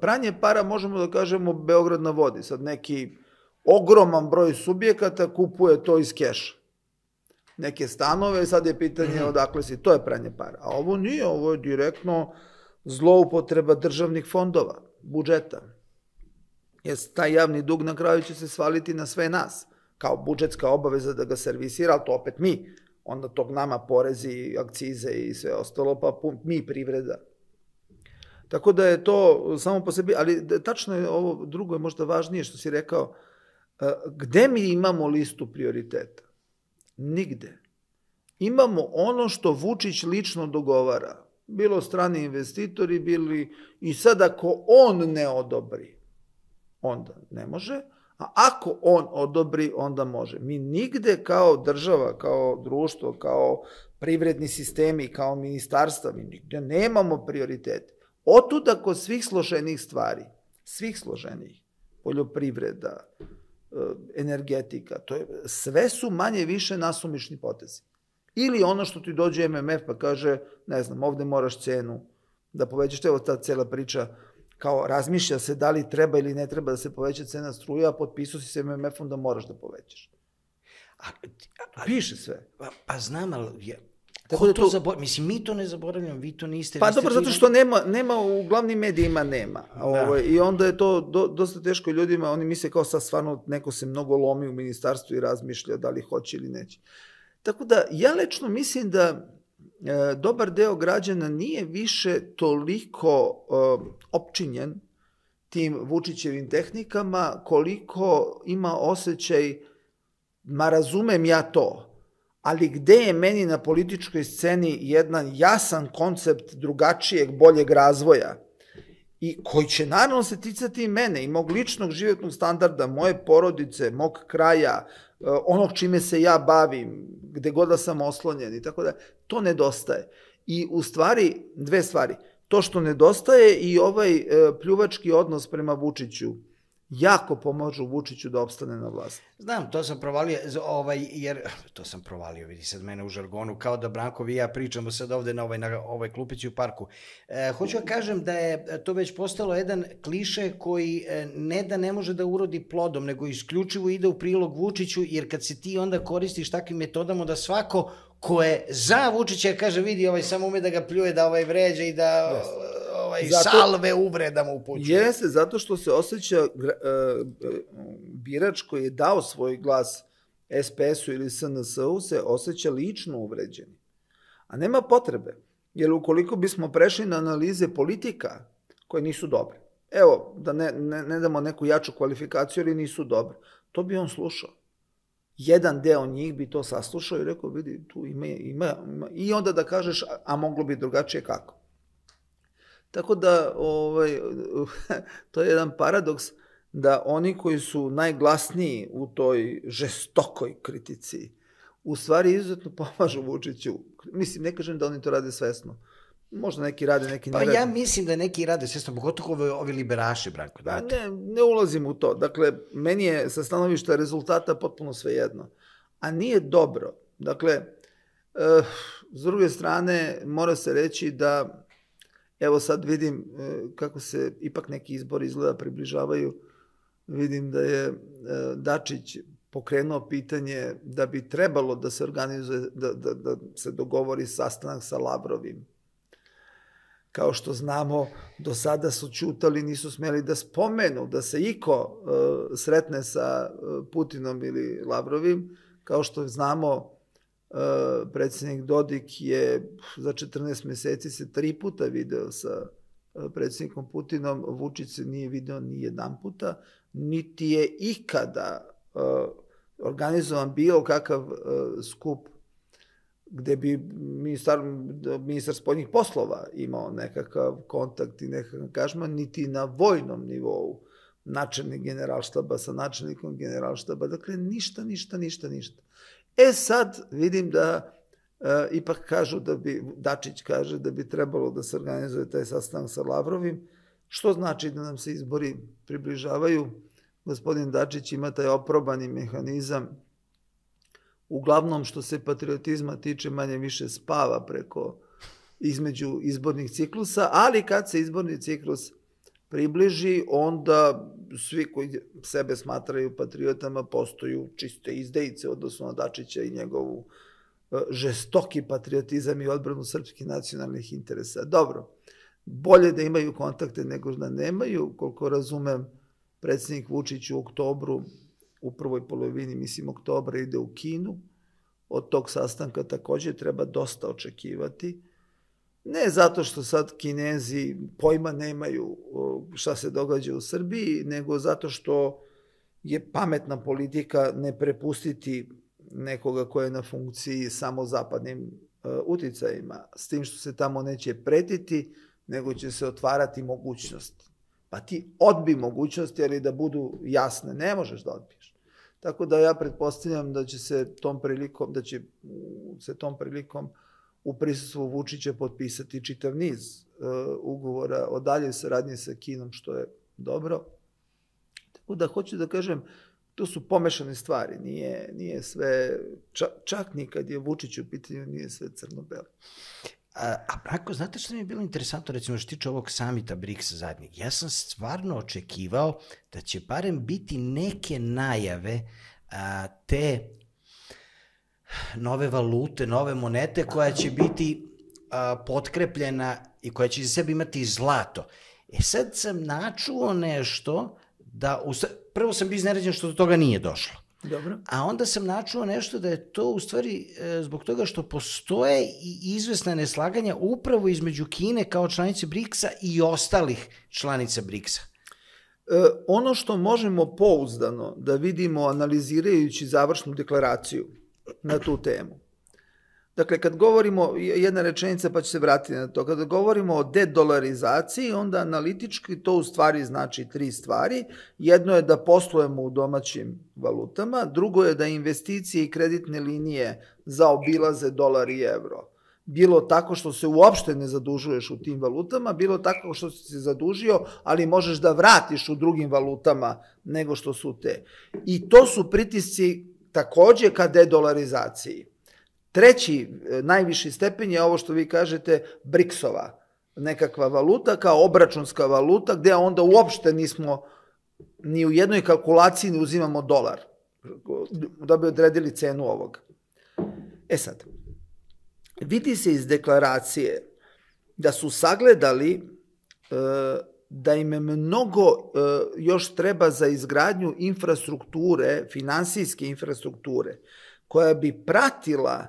Pranje para možemo da kažemo Beograd na vodi. Sad neki ogroman broj subjekata kupuje to iz keša. Neke stanove, sad je pitanje odakle si, to je pranje para. A ovo nije, ovo je direktno zloupotreba državnih fondova, budžeta. Jer taj javni dug na kraju će se svaliti na sve nas, kao budžetska obaveza da ga servisira, ali to opet mi. Onda tog nama porezi, akcize i sve ostalo, pa mi privreda. Tako da je to samo po sebi, ali tačno je ovo drugo je možda važnije što si rekao, gde mi imamo listu prioriteta? Nigde. Imamo ono što Vučić lično dogovara. Bilo strani investitori, bili i sad ako on ne odobri, onda ne može, a ako on odobri, onda može. Mi nigde kao država, kao društvo, kao privredni sistemi, kao ministarstva, mi nigde nemamo prioritete. Otuda kod svih složenih stvari, svih složenih, poljoprivreda, energetika, to je, sve su manje više nasumični potezi. Ili ono što ti dođe M M F pa kaže, ne znam, ovde moraš cenu da povećaš, evo ta cela priča, kao razmišlja se da li treba ili ne treba da se poveća cena struje, a potpisao si se M M F-om da moraš da povećaš. A, a, Piše sve. Pa, pa znam, ali ja, ko to, to zaboravlja? Mislim, mi to ne zaboravljamo, vi to niste... Pa dobro, zato što nema, nema u glavnim medijima nema. Da. Ovo, I onda je to do, dosta teško ljudima, oni misle kao sad stvarno neko se mnogo lomi u ministarstvu i razmišlja da li hoće ili neće. Tako da, ja lično mislim da e, dobar deo građana nije više toliko e, opčinjen tim Vučićevim tehnikama, koliko ima osjećaj, ma razumem ja to, ali gde je meni na političkoj sceni jedan jasan koncept drugačijeg, boljeg razvoja i koji će naravno se ticati i mene i mog ličnog životnog standarda, moje porodice, mog kraja, onog čime se ja bavim, gde god da sam oslonjen i tako da, to nedostaje. I u stvari, dve stvari, to što nedostaje i ovaj pljuvački odnos prema Vučiću jako pomažu Vučiću da opstane na vlasti. Znam, to sam provalio, ovaj, jer, to sam provalio, vidi sad mene u žargonu, kao da Branko i ja pričamo sad ovde na ovoj, na ovoj klupici u parku. E, hoću da kažem da je to već postalo jedan kliše koji ne da ne može da urodi plodom, nego isključivo ide u prilog Vučiću, jer kad se ti onda koristiš takvim metodama da svako ko je za Vučića kaže vidi ovaj samo ume da ga pljuje, da ovaj vređa i da... Yes. Ovaj, zato, salve uvreda mu upućuje. Jeste, zato što se osjeća uh, birač koji je dao svoj glas es pe esu ili es en es u se osjeća lično uvređeni. A nema potrebe, jer ukoliko bismo prešli na analize politika koje nisu dobre, evo, da ne, ne, ne damo neku jaču kvalifikaciju, ali nisu dobre, to bi on slušao. Jedan deo njih bi to saslušao i rekao, vidi, tu ima, ima, ima. I onda da kažeš, a, a moglo bi drugačije kako. Tako da, ovaj, to je jedan paradoks da oni koji su najglasniji u toj žestokoj kritici, u stvari izuzetno pomažu Vučiću. Mislim, ne kažem da oni to rade svesno. Možda neki rade, neki ne rade. Pa ja mislim da neki rade svesno, pogotovo ovi, ovi liberaši, Branko. Da, ne, ne ulazim u to. Dakle, meni je sa stanovišta rezultata potpuno svejedno. A nije dobro. Dakle, eh, s druge strane, mora se reći da evo sad vidim kako se ipak neki izbori izgleda približavaju. Vidim da je Dačić pokrenuo pitanje da bi trebalo da se organizuje, da, da, da se dogovori sastanak sa Lavrovim. Kao što znamo, do sada su ćutali, nisu smjeli da spomenu da se iko uh, sretne sa uh, Putinom ili Lavrovim. Kao što znamo, Uh, predsjednik Dodik je za četrnaest meseci se tri puta video sa uh, predsjednikom Putinom, Vučić se nije video ni jedan puta, niti je ikada uh, organizovan bio kakav uh, skup gde bi ministar, ministar spoljnih poslova imao nekakav kontakt i nekakav angažman, niti na vojnom nivou načelnik generalštaba sa načelnikom generalštaba, dakle ništa, ništa, ništa, ništa. E sad vidim da e, ipak kažu da bi, Dačić kaže da bi trebalo da se organizuje taj sastanak sa Lavrovim, što znači da nam se izbori približavaju. Gospodin Dačić ima taj oprobani mehanizam, uglavnom što se patriotizma tiče manje više spava preko između izbornih ciklusa, ali kad se izborni ciklus približi, onda svi koji sebe smatraju patriotama postaju čiste izdejice, odnosno na Dačića i njegovu žestoki patriotizam i odbranu srpskih nacionalnih interesa. Dobro, bolje da imaju kontakte nego da nemaju. Koliko razumem, predsjednik Vučić u oktobru, u prvoj polovini, mislim, oktobra ide u Kinu. Od tog sastanka također treba dosta očekivati. Ne zato što sad Kinezi pojma nemaju šta se događa u Srbiji, nego zato što je pametna politika ne prepustiti nekoga ko je na funkciji samo zapadnim uticajima, s tim što se tamo neće pretiti, nego će se otvarati mogućnost. Pa ti odbi mogućnosti, ali da budu jasne, ne možeš da odbiješ. Tako da ja pretpostavljam da će se tom prilikom, da će se tom prilikom u prisustvu Vučića potpisati čitav niz uh, ugovora o daljoj saradnji sa Kinom, što je dobro. Tako da hoću da kažem, to su pomešane stvari, nije, nije sve, čak, čak nikad je Vučić u pitanju, nije sve crno-belo. A, a Branko, znate što mi je bilo interesantno, recimo što tiče ovog samita briks zadnjeg? Ja sam stvarno očekivao da će barem biti neke najave a, te nove valute, nove monete koja će biti a, potkrepljena i koja će za sebe imati zlato. E sad sam načuo nešto da, u, prvo sam bio iznenađen što do toga nije došlo. Dobro. A onda sam načuo nešto da je to u stvari e, zbog toga što postoje i izvesna neslaganja upravo između Kine kao članice briksa i ostalih članica briksa. E, ono što možemo pouzdano da vidimo analizirajući završnu deklaraciju na tu temu. Dakle, kad govorimo, jedna rečenica pa ću se vratiti na to, kada govorimo o dedolarizaciji, onda analitički to u stvari znači tri stvari. Jedno je da poslujemo u domaćim valutama, drugo je da investicije i kreditne linije zaobilaze dolar i evro. bilo tako što se uopšte ne zadužuješ u tim valutama, bilo tako što si se zadužio, ali možeš da vratiš u drugim valutama nego što su te. I to su pritisci takođe ka dedolarizaciji. Treći, najviši stepen je ovo što vi kažete, briksova nekakva valuta, kao obračunska valuta, gde onda uopšte nismo ni u jednoj kalkulaciji ne uzimamo dolar, da bi odredili cenu ovog. E sad, vidi se iz deklaracije da su sagledali da im mnogo još treba za izgradnju infrastrukture, finansijske infrastrukture, koja bi pratila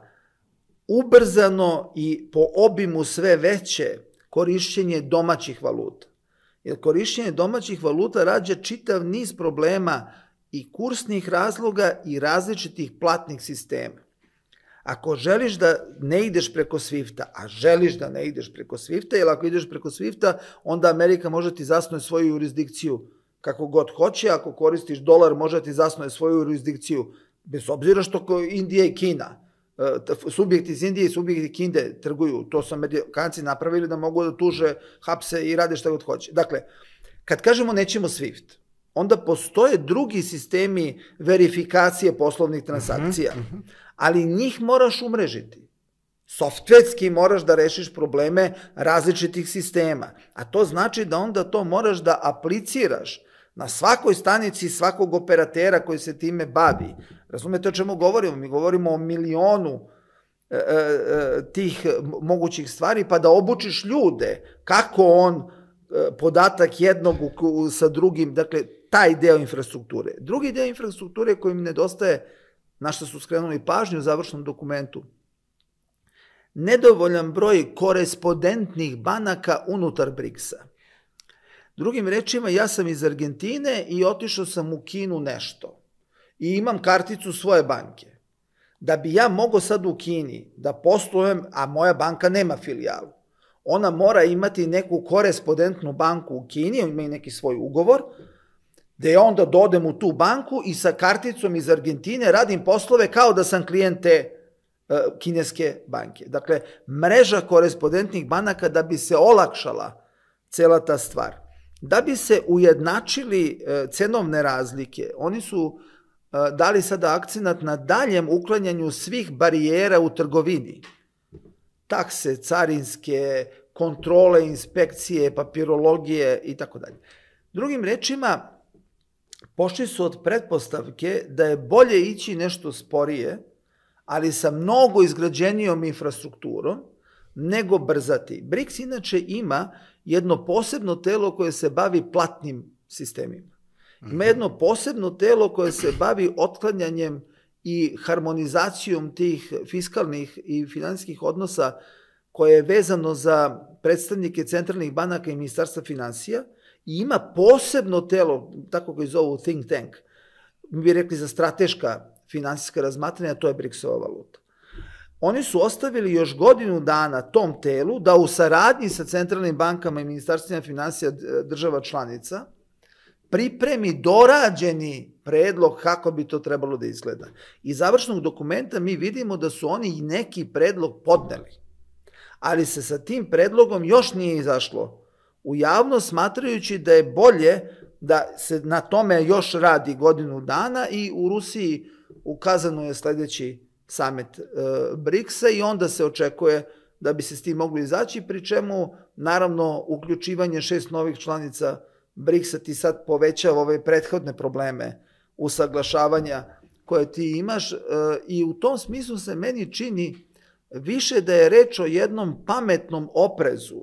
ubrzano i po obimu sve veće korišćenje domaćih valuta. Jer korišćenje domaćih valuta rađa čitav niz problema i kursnih razloga i različitih platnih sistema. Ako želiš da ne ideš preko Swifta, a želiš da ne ideš preko Swifta, jer ako ideš preko Swifta, onda Amerika može ti zasnuje svoju jurisdikciju kako god hoće, ako koristiš dolar, može ti zasnuje svoju jurisdikciju, bez obzira što Indija i Kina, subjekti iz Indije i subjekti Kine trguju, to su Amerikanci napravili da mogu da tuže, hapse i rade šta god hoće. Dakle, kad kažemo nećemo Swift, onda postoje drugi sistemi verifikacije poslovnih transakcija, ali njih moraš umrežiti. Softverski moraš da rešiš probleme različitih sistema, a to znači da onda to moraš da apliciraš na svakoj stanici svakog operatera koji se time bavi. Razumete o čemu govorimo? Mi govorimo o milionu e, e, tih mogućih stvari, pa da obučiš ljude kako on e, podatak jednog u, u, sa drugim, dakle, taj deo infrastrukture. Drugi deo infrastrukture koji mi nedostaje, na što su skrenuli pažnju u završnom dokumentu, nedovoljan broj korespondentnih banaka unutar briksa. Drugim rečima, ja sam iz Argentine i otišao sam u Kinu nešto i imam karticu svoje banke. Da bi ja mogao sad u Kini da poslujem, a moja banka nema filijalu, ona mora imati neku korespondentnu banku u Kini, ima i neki svoj ugovor, da ja onda dodem u tu banku i sa karticom iz Argentine radim poslove kao da sam klijent te uh, kineske banke. Dakle, mreža korespondentnih banaka da bi se olakšala cela ta stvar. Da bi se ujednačili uh, cenovne razlike, oni su uh, dali sada akcenat na daljem uklanjanju svih barijera u trgovini. Takse, carinske, kontrole, inspekcije, papirologije i tako dalje. Drugim rečima, pošli su od pretpostavke da je bolje ići nešto sporije, ali sa mnogo izgrađenijom infrastrukturom, nego brzati. briks inače ima jedno posebno telo koje se bavi platnim sistemima. Ima jedno posebno telo koje se bavi otklanjanjem i harmonizacijom tih fiskalnih i finansijskih odnosa koje je vezano za predstavnike centralnih banaka i ministarstva finansija, i ima posebno telo, tako koji zovu think tank, mi bi rekli za strateška finansijska razmatranja, to je briksova valuta. Oni su ostavili još godinu dana tom telu da u saradnji sa centralnim bankama i ministarstvima finansija država članica pripremi dorađeni predlog kako bi to trebalo da izgleda. Iz završnog dokumenta mi vidimo da su oni i neki predlog podneli, ali se sa tim predlogom još nije izašlo u javnost, smatrajući da je bolje da se na tome još radi godinu dana i u Rusiji u Kazanu je sledeći samit e, briksa i onda se očekuje da bi se s tim mogli izaći, pri čemu naravno uključivanje šest novih članica briksa ti sad povećava ove prethodne probleme usaglašavanja koje ti imaš e, i u tom smislu se meni čini više da je reč o jednom pametnom oprezu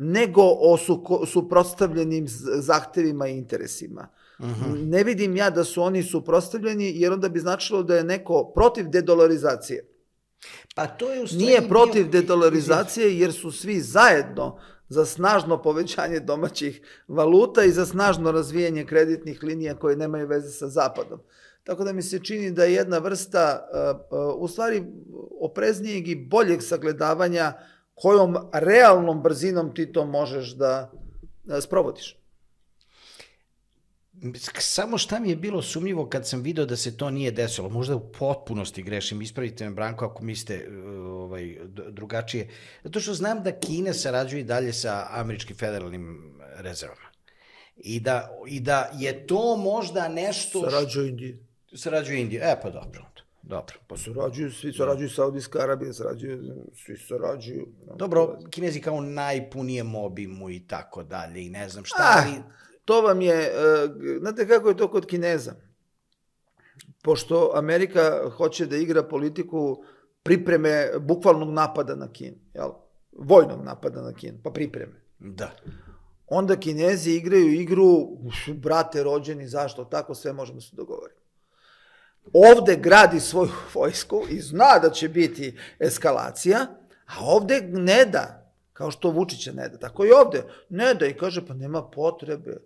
nego o suprotstavljenim zahtevima i interesima. Uh-huh. Ne vidim ja da su oni suprotstavljeni, jer onda bi značilo da je neko protiv dedolarizacije. Pa to je u stvari... Nije protiv dedolarizacije, jer su svi zajedno za snažno povećanje domaćih valuta i za snažno razvijanje kreditnih linija koje nemaju veze sa Zapadom. Tako da mi se čini da je jedna vrsta, u stvari, opreznijeg i boljeg sagledavanja kojom realnom brzinom ti to možeš da sprovodiš. Samo šta mi je bilo sumnjivo kad sam video da se to nije desilo, možda u potpunosti grešim, ispravite me Branko ako mislite ovaj, drugačije. Zato što znam da Kina sarađuje i dalje sa američkim federalnim rezervama. I da, i da je to možda nešto... Sarađuje Indije. Sarađuje Indije. E, pa dobro. Dobro. Pa sarađuju, svi sarađuju Saudijska Arabija, sarađuju, svi sarađuju. Dobro, Kinezi kao najpunijem obimu i tako dalje i ne znam šta. Ah, ali... To vam je, znate kako je to kod Kineza? Pošto Amerika hoće da igra politiku pripreme bukvalnog napada na Kinu, jel? Vojnog napada na Kinu, pa pripreme. Da. Onda Kinezi igraju igru, brate rođeni, zašto? Tako sve možemo se dogovoriti. Ovde gradi svoju vojsku i zna da će biti eskalacija, a ovde ne da, kao što Vučića ne da, tako i ovde ne da i kaže pa nema potrebe,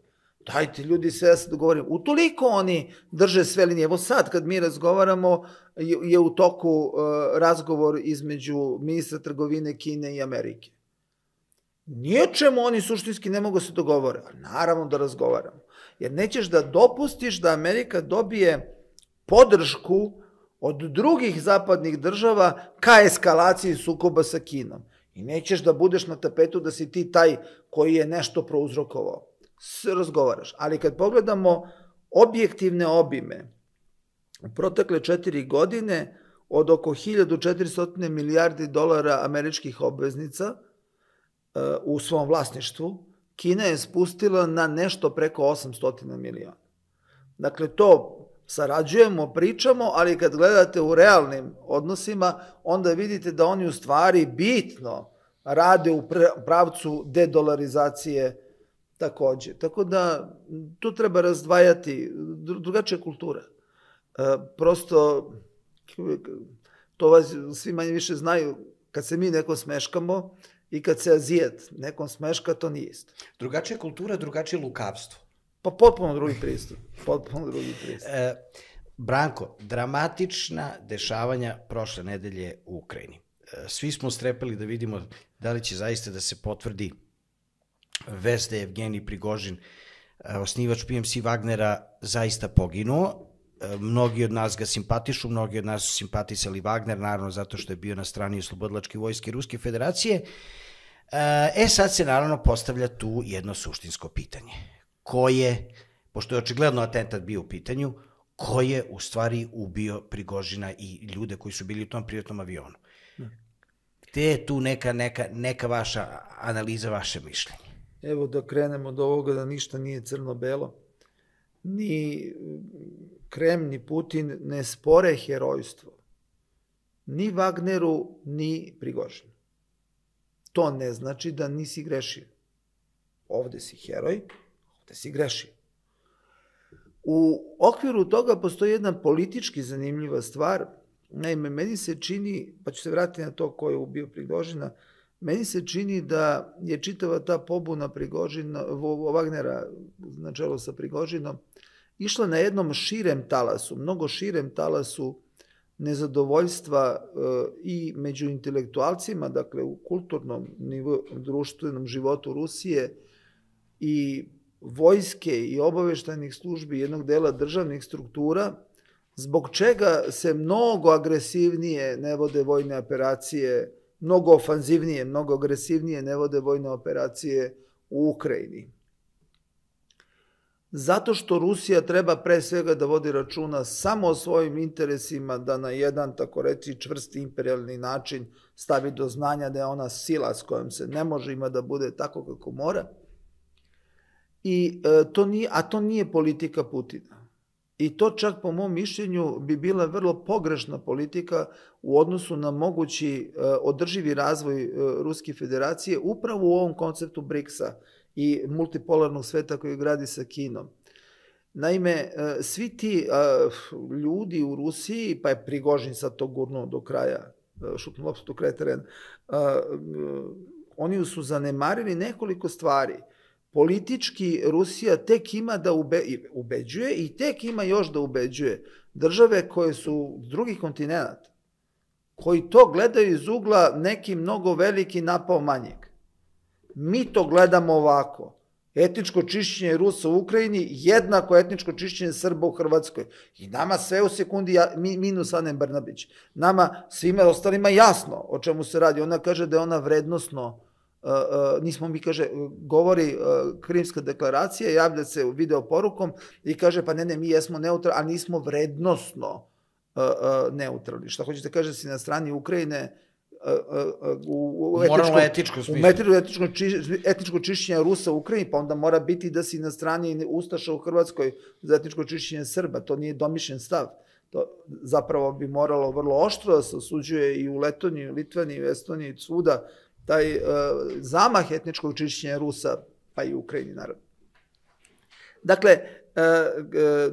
dajte ljudi sve da se dogovorimo. Utoliko oni drže sve linije. Evo sad kad mi razgovaramo je u toku razgovor između ministra trgovine Kine i Amerike. Ničemu oni suštinski ne mogu se dogovore, a naravno da razgovaramo. Jer nećeš da dopustiš da Amerika dobije podršku od drugih zapadnih država ka eskalaciji sukoba sa Kinom. I nećeš da budeš na tapetu da si ti taj koji je nešto prouzrokovao. Sve razgovaraš. Ali kad pogledamo objektivne obime, u protekle četiri godine od oko hiljadu četiristo milijardi dolara američkih obveznica u svom vlasništvu, Kina je spustila na nešto preko osamsto miliona. Dakle, to sarađujemo, pričamo, ali kad gledate u realnim odnosima, onda vidite da oni u stvari bitno rade u pravcu dedolarizacije takođe. Tako da tu treba razdvajati drugačija kultura. Prosto, to vas svi manje više znaju, kad se mi neko smeškamo i kad se Azijet nekom smeška, to nije isto. Drugačija kultura, drugačije lukavstvo. Pa potpuno drugi pristup. Potpuno drugi pristup. E, Branko, dramatična dešavanja prošle nedelje u Ukrajini. E, svi smo strepeli da vidimo da li će zaista da se potvrdi vest da je Evgenij Prigožin, osnivač P M C Wagnera, zaista poginuo. E, mnogi od nas ga simpatišu, mnogi od nas su simpatisali Wagner, naravno zato što je bio na strani oslobodilačke vojske Ruske federacije. E, sad se naravno postavlja tu jedno suštinsko pitanje. Ko je, pošto je očigledno atentat bio u pitanju, ko je u stvari ubio Prigožina i ljude koji su bili u tom privatnom avionu? Gde je tu neka, neka, neka vaša analiza, vaše mišljenje? Evo da krenemo od ovoga da ništa nije crno-belo. Ni Kreml, ni Putin ne spore herojstvo. Ni Wagneru, ni Prigožinu. To ne znači da nisi grešio. Ovde si heroj, da si grešio. U okviru toga postoji jedna politički zanimljiva stvar. Naime, meni se čini, pa ću se vratiti na to ko je ubio Prigožina, meni se čini da je čitava ta pobuna Prigožina, Wagnera na čelu sa Prigožinom, išla na jednom širem talasu, mnogo širem talasu nezadovoljstva i među intelektualcima, dakle u kulturnom nivou, društvenom životu Rusije i vojske i obaveštajnih službi jednog dela državnih struktura, zbog čega se mnogo agresivnije ne vode vojne operacije, mnogo ofanzivnije, mnogo agresivnije ne vode vojne operacije u Ukrajini. Zato što Rusija treba pre svega da vodi računa samo o svojim interesima, da na jedan, tako reći, čvrsti imperialni način stavi do znanja da je ona sila s kojom se ne može ima da bude tako kako mora. I, e, to nije, a to nije politika Putina. I to čak po mom mišljenju bi bila vrlo pogrešna politika u odnosu na mogući e, održivi razvoj e, Ruske federacije upravo u ovom konceptu briksa i multipolarnog sveta koji gradi sa Kinom. Naime, e, svi ti e, ljudi u Rusiji, pa je Prigožin sad to gurnuo do kraja, e, šutno loptu do kraja terena, e, e, oni su zanemarili nekoliko stvari. Politički Rusija tek ima da ube, ubeđuje i tek ima još da ubeđuje države koje su s drugih kontinenta, koji to gledaju iz ugla neki mnogo veliki napao manjeg. Mi to gledamo ovako. Etničko čišćenje Rusa u Ukrajini jednako etničko čišćenje Srba u Hrvatskoj. I nama sve u sekundi, minus Ane Brnabić, nama svima ostalima jasno o čemu se radi. Ona kaže da je ona vrednosno, nismo mi, kaže, govori Krimska deklaracija, javlja se video porukom i kaže, pa ne, ne, mi jesmo neutralni, a nismo vrednosno neutralni. Šta hoćete kaže da si na strani Ukrajine u etničko čišćenje Rusa u Ukrajini, pa onda mora biti da si na strani Ustaša u Hrvatskoj za etničko čišćenje Srba. To nije domišljen stav. To zapravo bi moralo vrlo oštro da se osuđuje i u Letoniji, Litvaniji, u Estoniji, svuda, taj zamah etničkog čišćenja Rusa, pa i u Ukrajini, naravno. Dakle,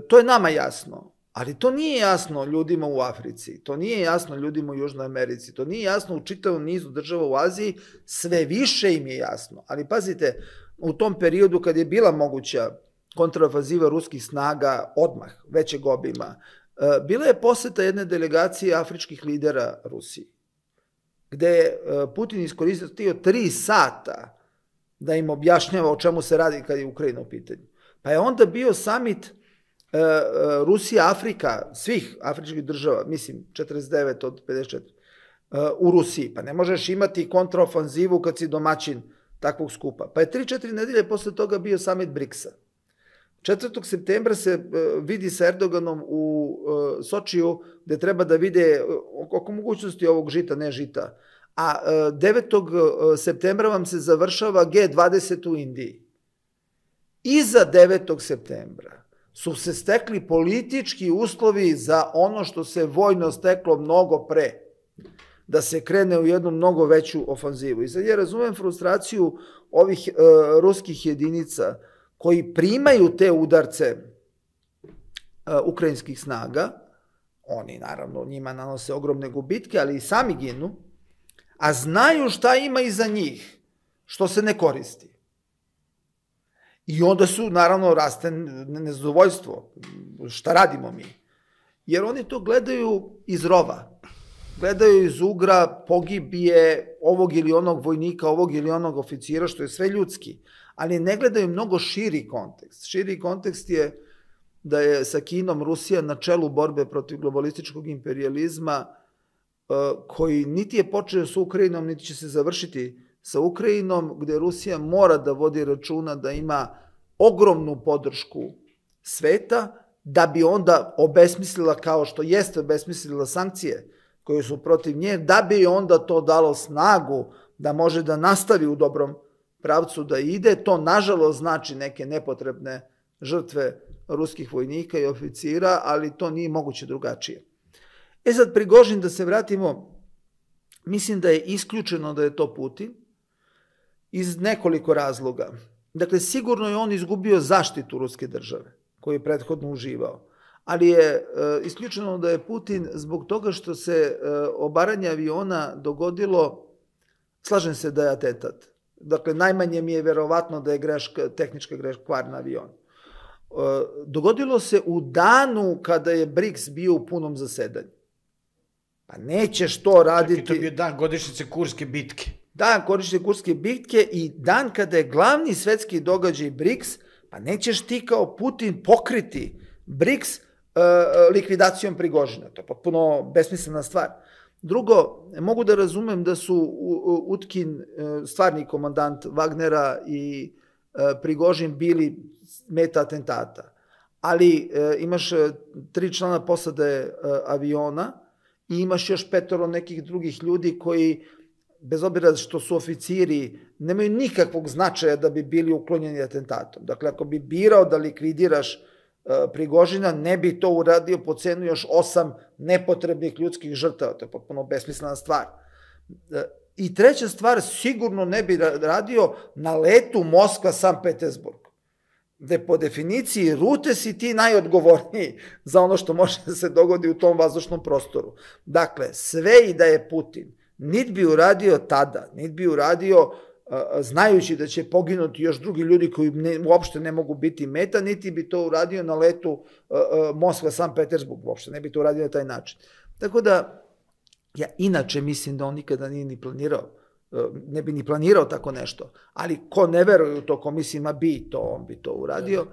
to je nama jasno. Ali to nije jasno ljudima u Africi, to nije jasno ljudima u Južnoj Americi, to nije jasno u čitavom nizu država u Aziji, sve više im je jasno. Ali pazite, u tom periodu kad je bila moguća kontraofanziva ruskih snaga odmah, većeg obima, bila je poseta jedne delegacije afričkih lidera Rusiji, gde je Putin iskoristio tri sata da im objašnjava o čemu se radi kad je Ukrajina u pitanju. Pa je onda bio samit Rusija, Afrika, svih afričkih država, mislim četrdeset devet od pedeset četiri, u Rusiji. Pa ne možeš imati kontraofanzivu kad si domaćin takvog skupa. Pa je tri četiri nedelje posle toga bio samit briksa. četvrtog septembra se vidi sa Erdoganom u Sočiju, gde treba da vide oko mogućnosti ovog žita, ne žita. A devetog septembra vam se završava G dvadeset u Indiji. Iza devetog septembra su se stekli politički uslovi za ono što se vojno steklo mnogo pre, da se krene u jednu mnogo veću ofanzivu. I sad ja razumem frustraciju ovih ruskih jedinica koji primaju te udarce ukrajinskih snaga, oni naravno njima nanose ogromne gubitke, ali i sami ginu, a znaju šta ima iza njih, što se ne koristi. I onda su, naravno, raste nezadovoljstvo. Šta radimo mi? Jer oni to gledaju iz rova. Gledaju iz ugra pogibije ovog ili onog vojnika, ovog ili onog oficira, što je sve ljudski. Ali ne gledaju mnogo širi kontekst. Širi kontekst je da je sa Kinom Rusija na čelu borbe protiv globalističkog imperijalizma, koji niti je počeo sa Ukrajinom, niti će se završiti sa Ukrajinom, gde Rusija mora da vodi računa da ima ogromnu podršku sveta, da bi onda obesmislila, kao što jeste obesmislila sankcije koje su protiv nje, da bi onda to dalo snagu da može da nastavi u dobrom pravcu da ide. To, nažalost, znači neke nepotrebne žrtve ruskih vojnika i oficira, ali to nije moguće drugačije. E sad, Prigožin, da se vratimo, mislim da je isključeno da je to Putin, iz nekoliko razloga. Dakle, sigurno je on izgubio zaštitu ruske države, koju je prethodno uživao. Ali je isključeno da je Putin zbog toga što se obaranje aviona dogodilo, slažem se da je atentat. Dakle, najmanje mi je verovatno da je greška, tehnička greška, kvar na avionu. Dogodilo se u danu kada je BRIKS bio u punom zasedanju. Pa nećeš to raditi... Čak i to bio dan godišnjice Kurske bitke. Dan godišnjice Kurske bitke i dan kada je glavni svetski događaj BRIKS, pa nećeš ti kao Putin pokriti BRIKS likvidacijom Prigožina. To je potpuno besmislena stvar. Drugo, mogu da razumem da su Utkin, stvarni komandant Wagnera, i Prigožin bili meta atentata. Ali imaš tri člana posade aviona i imaš još petoro nekih drugih ljudi koji, bez obzira što su oficiri, nemaju nikakvog značaja da bi bili uklonjeni atentatom. Dakle, ako bi birao da likvidiraš Prigožina, ne bi to uradio po cenu još osam nepotrebnih ljudskih žrtava. To je potpuno besmislena stvar. I treća stvar, sigurno ne bi radio na letu Moskva-Sankt Petersburg, gde po definiciji rute si ti najodgovorniji za ono što može da se dogodi u tom vazdušnom prostoru. Dakle, sve i da je Putin, niti bi uradio tada, niti bi uradio znajući da će poginuti još drugi ljudi koji uopšte ne mogu biti meta, niti bi to uradio na letu Moskva-Sankt Petersburg, uopšte ne bi to uradio na taj način. Tako da, ja inače mislim da on nikada nije ni planirao ne bi ni planirao tako nešto, ali ko ne veruje u to, ko mislim, ma bi to, on bi to uradio.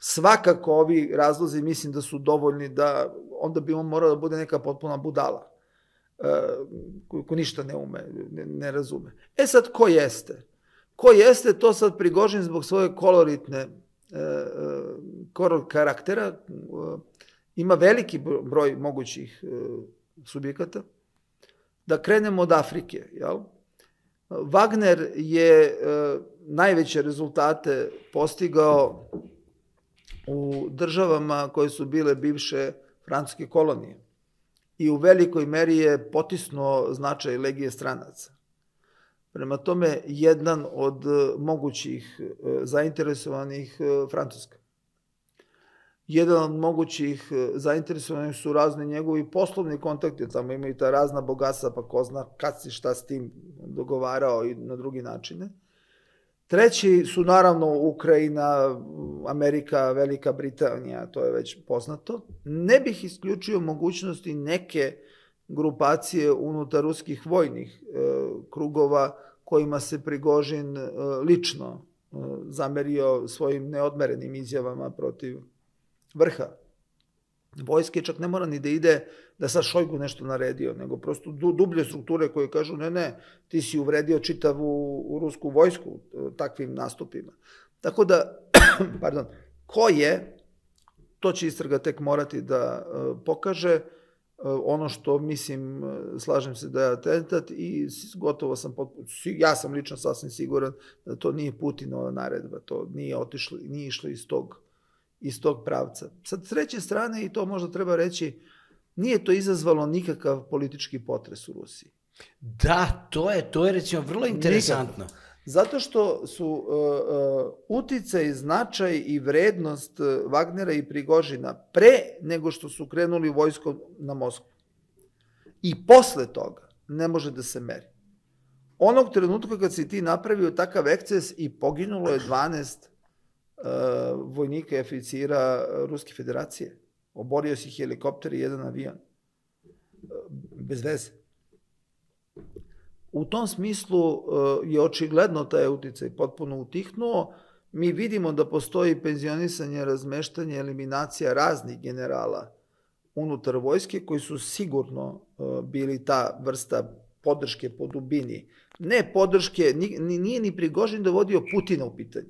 Svakako ovi razlozi mislim da su dovoljni da onda bi on morao da bude neka potpuna budala, ko ništa ne ume, ne razume. E sad, ko jeste? Ko jeste, to sad Prigožin zbog svoje koloritne karaktera ima veliki broj mogućih subjekata. Da krenemo od Afrike, jel? Wagner je najveće rezultate postigao u državama koje su bile bivše francuske kolonije i u velikoj meri je potisnuo značaj Legije stranaca. Prema tome, jedan od mogućih zainteresovanih Francuska. Jedan od mogućih zainteresovanih su razni njegovi poslovni kontakti, tamo imaju ta razna bogatstva, pa ko zna kad si šta s tim dogovarao i na drugi načine. Treći su naravno Ukrajina, Amerika, Velika Britanija, to je već poznato. Ne bih isključio mogućnosti neke grupacije unutar ruskih vojnih krugova kojima se Prigožin lično zamerio svojim neodmerenim izjavama protiv vrha vojske, čak ne mora ni da ide da sad Šojgu nešto naredio, nego prosto dublje strukture koje kažu ne, ne, ti si uvredio čitavu rusku vojsku takvim nastupima. Tako da, pardon, ko je, to će istraga tek morati da pokaže. Ono što mislim, slažem se da je atentat i gotovo sam, ja sam lično sasvim siguran da to nije Putinova naredba, to nije otišlo, nije išlo iz tog iz tog pravca. Sad, s treće strane, i to možda treba reći, nije to izazvalo nikakav politički potres u Rusiji. Da, to je, to je recimo vrlo interesantno. Nikakav. Zato što su uh, uh, uticaj, značaj i vrednost Wagnera i Prigožina pre nego što su krenuli vojskom na Moskvu. I posle toga ne može da se meri. Onog trenutka kad si ti napravio takav eksces i poginulo je dvanaest vojnika i oficira Ruske federacije. Oborio si helikopter i jedan avion. Bez veze. U tom smislu je očigledno taj uticaj potpuno utihnuo. Mi vidimo da postoji penzionisanje, razmeštanje, eliminacija raznih generala unutar vojske koji su sigurno bili ta vrsta podrške po dubini. Ne podrške, nije ni Prigožin dovodio Putina u pitanje.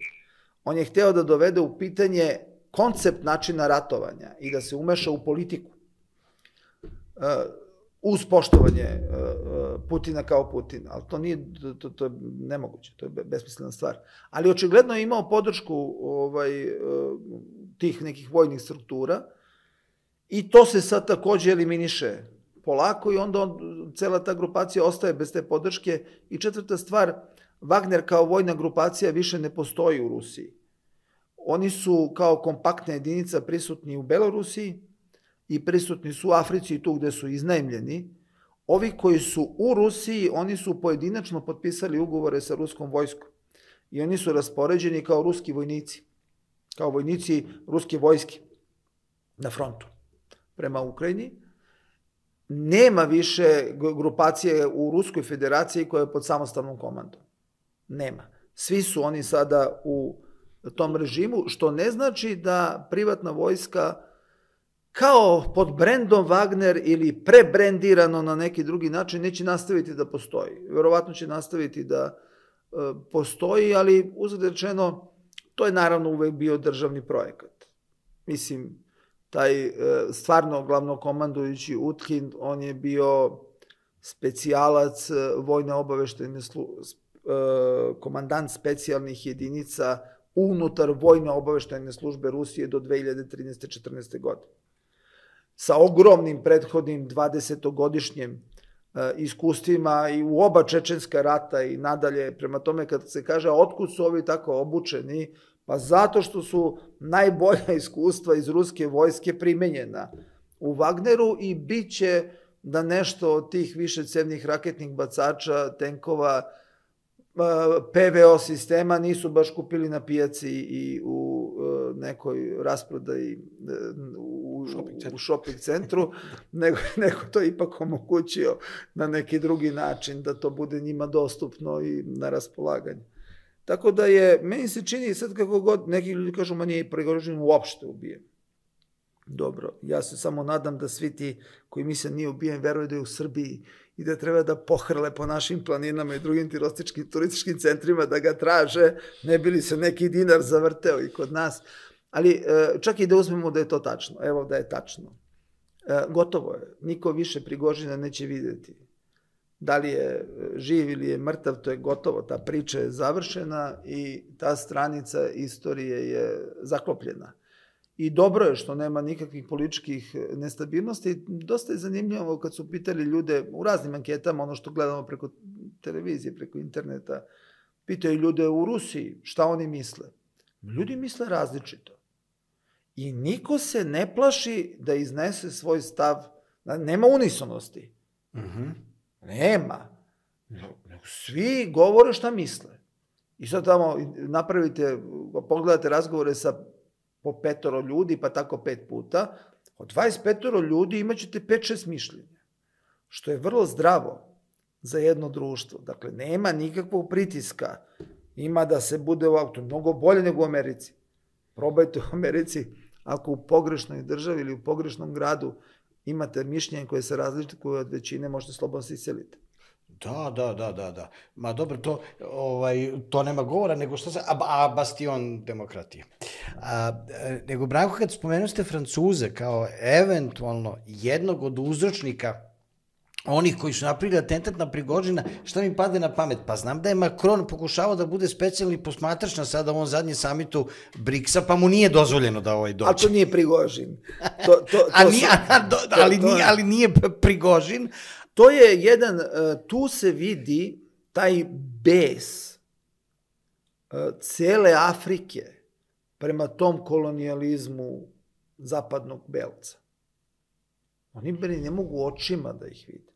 On je hteo da dovede u pitanje koncept načina ratovanja i da se umeša u politiku. Uz poštovanje Putina kao Putina, ali to nije, to, to je nemoguće, to je besmislena stvar. Ali očigledno je imao podršku ovaj, tih nekih vojnih struktura i to se sad takođe eliminiše polako i onda on, cela ta grupacija ostaje bez te podrške. I četvrta stvar, Wagner kao vojna grupacija više ne postoji u Rusiji. Oni su kao kompaktna jedinica prisutni u Belorusiji i prisutni su u Africi tu gde su iznajmljeni. Ovi koji su u Rusiji, oni su pojedinačno potpisali ugovore sa ruskom vojskom i oni su raspoređeni kao ruski vojnici, kao vojnici ruske vojske na frontu prema Ukrajini. Nema više grupacije u Ruskoj federaciji koja je pod samostalnom komandom. Nema. Svi su oni sada u tom režimu, što ne znači da privatna vojska kao pod brendom Wagner ili prebrendirano na neki drugi način neće nastaviti da postoji. Verovatno će nastaviti da e, postoji, ali uzgled rečeno, to je naravno uvek bio državni projekat. Mislim, taj e, stvarno glavnokomandujući Utkin, on je bio specijalac vojne obaveštajne službe, komandant specijalnih jedinica unutar vojne obaveštajne službe Rusije do dve hiljade trinaeste četrnaeste. godine. Sa ogromnim prethodnim dvadesetogodišnjim iskustvima i u oba čečenska rata i nadalje. Prema tome, kad se kaže otkud su ovi tako obučeni, pa zato što su najbolja iskustva iz ruske vojske primenjena u Wagneru i bit će da nešto od tih višecevnih raketnih bacača, tenkova, P V O sistema nisu baš kupili na pijaci i u nekoj rasprodaji u u, u shopping centru, nego, nego to ipak omogućio na neki drugi način, da to bude njima dostupno i na raspolaganju. Tako da je, meni se čini sad kako god, neki ljudi kažu, ma nije Prigožin uopšte ubijen. Dobro, ja se samo nadam da svi ti koji misle nije ubijen, veruju da je u Srbiji i da treba da pohrle po našim planinama i drugim turističkim centrima da ga traže, ne bi li se neki dinar zavrteo i kod nas. Ali čak i da uzmemo da je to tačno, evo da je tačno. Gotovo je, niko više Prigožina neće vidjeti. Da li je živ ili je mrtav, to je gotovo, ta priča je završena i ta stranica istorije je zaklopljena. I dobro je što nema nikakvih političkih nestabilnosti. Dosta je zanimljivo kad su pitali ljude u raznim anketama, ono što gledamo preko televizije, preko interneta, pitaju ljude u Rusiji šta oni misle. Ljudi misle različito. I niko se ne plaši da iznese svoj stav. Nema unisonosti. Nema. Svi govore šta misle. I sad tamo napravite, pogledate razgovore sa po petoro ljudi, pa tako pet puta, od dvadeset petoro ljudi imaćete pet šest mišljenja, što je vrlo zdravo za jedno društvo. Dakle, nema nikakvog pritiska, ima da se bude u auto, mnogo bolje nego u Americi. Probajte u Americi, ako u pogrešnoj državi ili u pogrešnom gradu imate mišljenje koje se razlikuje od većine, možete slobodno se iseliti. Da, da, da, da, da. Ma dobro, to, ovaj, to nema govora, nego što se, a, a bastion demokratije. A, nego, Branko, kad spomenuo ste Francuze kao eventualno jednog od uzročnika onih koji su napravili atentat na Prigožina, šta mi pade na pamet? Pa znam da je Macron pokušavao da bude specijalni posmatrač na sada ovom zadnjem samitu briksa, pa mu nije dozvoljeno da ovaj dođe. Ali to nije Prigožin. To, to, to a nije, a, do, ali, to, nije, ali nije Prigožin. To je jedan, tu se vidi taj bes cele Afrike prema tom kolonijalizmu zapadnog belca. Oni bili ne mogu očima da ih vide.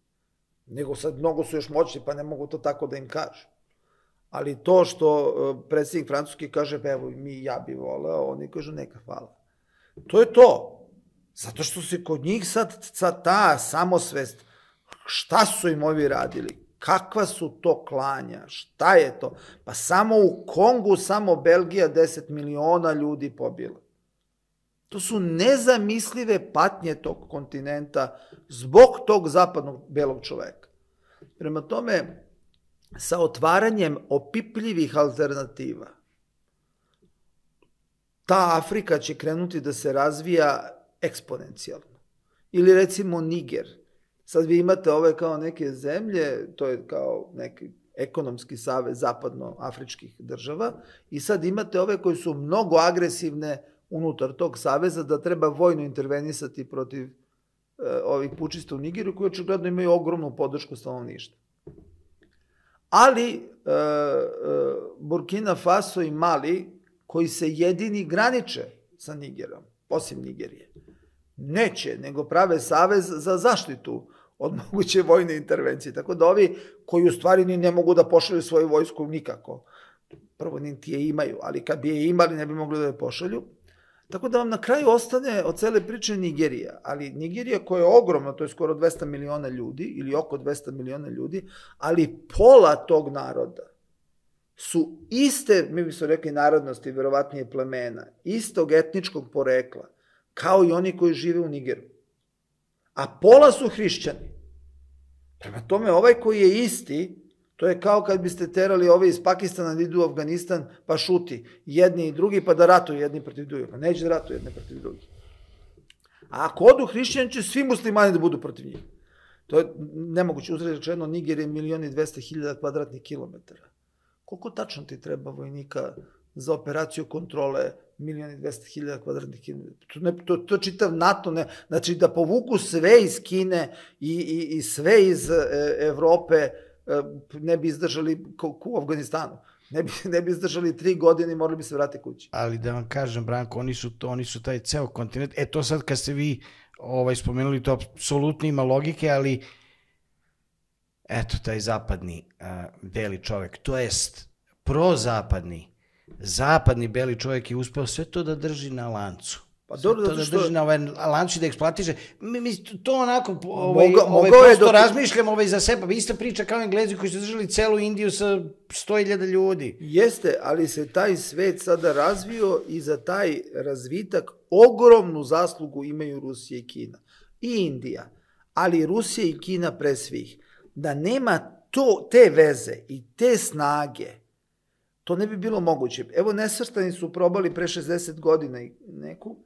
Nego sad mnogo su još moćni, pa ne mogu to tako da im kažu. Ali to što predsjednik Francuski kaže, pa evo mi ja bi voleo, oni kažu neka hvala. To je to. Zato što se kod njih sad, sad ta samosvest, šta su im ovi radili, kakva su to klanja, šta je to? Pa samo u Kongu, samo Belgija deset miliona ljudi pobila. To su nezamislive patnje tog kontinenta zbog tog zapadnog belog čoveka. Prema tome, sa otvaranjem opipljivih alternativa, ta Afrika će krenuti da se razvija eksponencijalno. Ili recimo Niger. Sad vi imate ove kao neke zemlje, to je kao neki ekonomski savez zapadnoafričkih država, i sad imate ove koji su mnogo agresivne unutar tog saveza, da treba vojno intervenisati protiv e, ovih pučista u Nigeru, koji očigledno imaju ogromnu podršku stanovništva. Ali e, e, Burkina Faso i Mali, koji se jedini graniče sa Nigerom, osim Nigerije, neće, nego prave savez za zaštitu od moguće vojne intervencije. Tako da ovi koji u stvari ni ne mogu da pošalju svoju vojsku nikako, prvo niti je imaju, ali kad bi je imali ne bi mogli da je pošalju. Tako da vam na kraju ostane od cele priče Nigerija, ali Nigerija koja je ogromna, to je skoro dvesta miliona ljudi, ili oko dvesta miliona ljudi, ali pola tog naroda su iste, mi bi se rekli narodnosti, verovatnije plemena, istog etničkog porekla, kao i oni koji žive u Nigeru. A pola su hrišćani. Prema tome, ovaj koji je isti, to je kao kad biste terali ove iz Pakistana da idu u Afganistan, pa šuti jedni i drugi, pa da ratuju jedni protiv drugih. Pa neće da ratuju jedni protiv drugih. A ako odu hrišćani, će svi muslimani da budu protiv njih. To je nemoguće. Uzred rečeno, Niger je milion i dvesta hiljada kvadratnih kilometara. Koliko tačno ti treba vojnika za operaciju kontrole milion i dvesta hiljada kvadratnih kilometara? To, to, to čitav NATO, ne, znači da povuku sve iz Kine i, i, i sve iz e, Evrope, ne bi izdržali u Afganistanu. Ne bi, ne bi izdržali tri godine i morali bi se vratiti kući. Ali da vam kažem, Branko, oni su, to, oni su taj ceo kontinent. E to sad kad ste vi ovaj, spomenuli, to apsolutno ima logike, ali eto, taj zapadni a, beli čovek, to jest prozapadni, zapadni beli čovek je uspeo sve to da drži na lancu. Pa dobro, zato što... da drži na ovaj lanči da eksploatiše. Mi, mi to onako, ovaj, Moga, ovaj, prosto dok... razmišljamo ovaj za sebe. Ista priča kao Englezi koji su držali celu Indiju sa sto hiljada ljudi. Jeste, ali se taj svet sada razvio i za taj razvitak ogromnu zaslugu imaju Rusija i Kina. I Indija, ali Rusija i Kina pre svih. Da nema to, te veze i te snage, to ne bi bilo moguće. Evo, Nesvrstani su probali pre šezdeset godina i neku,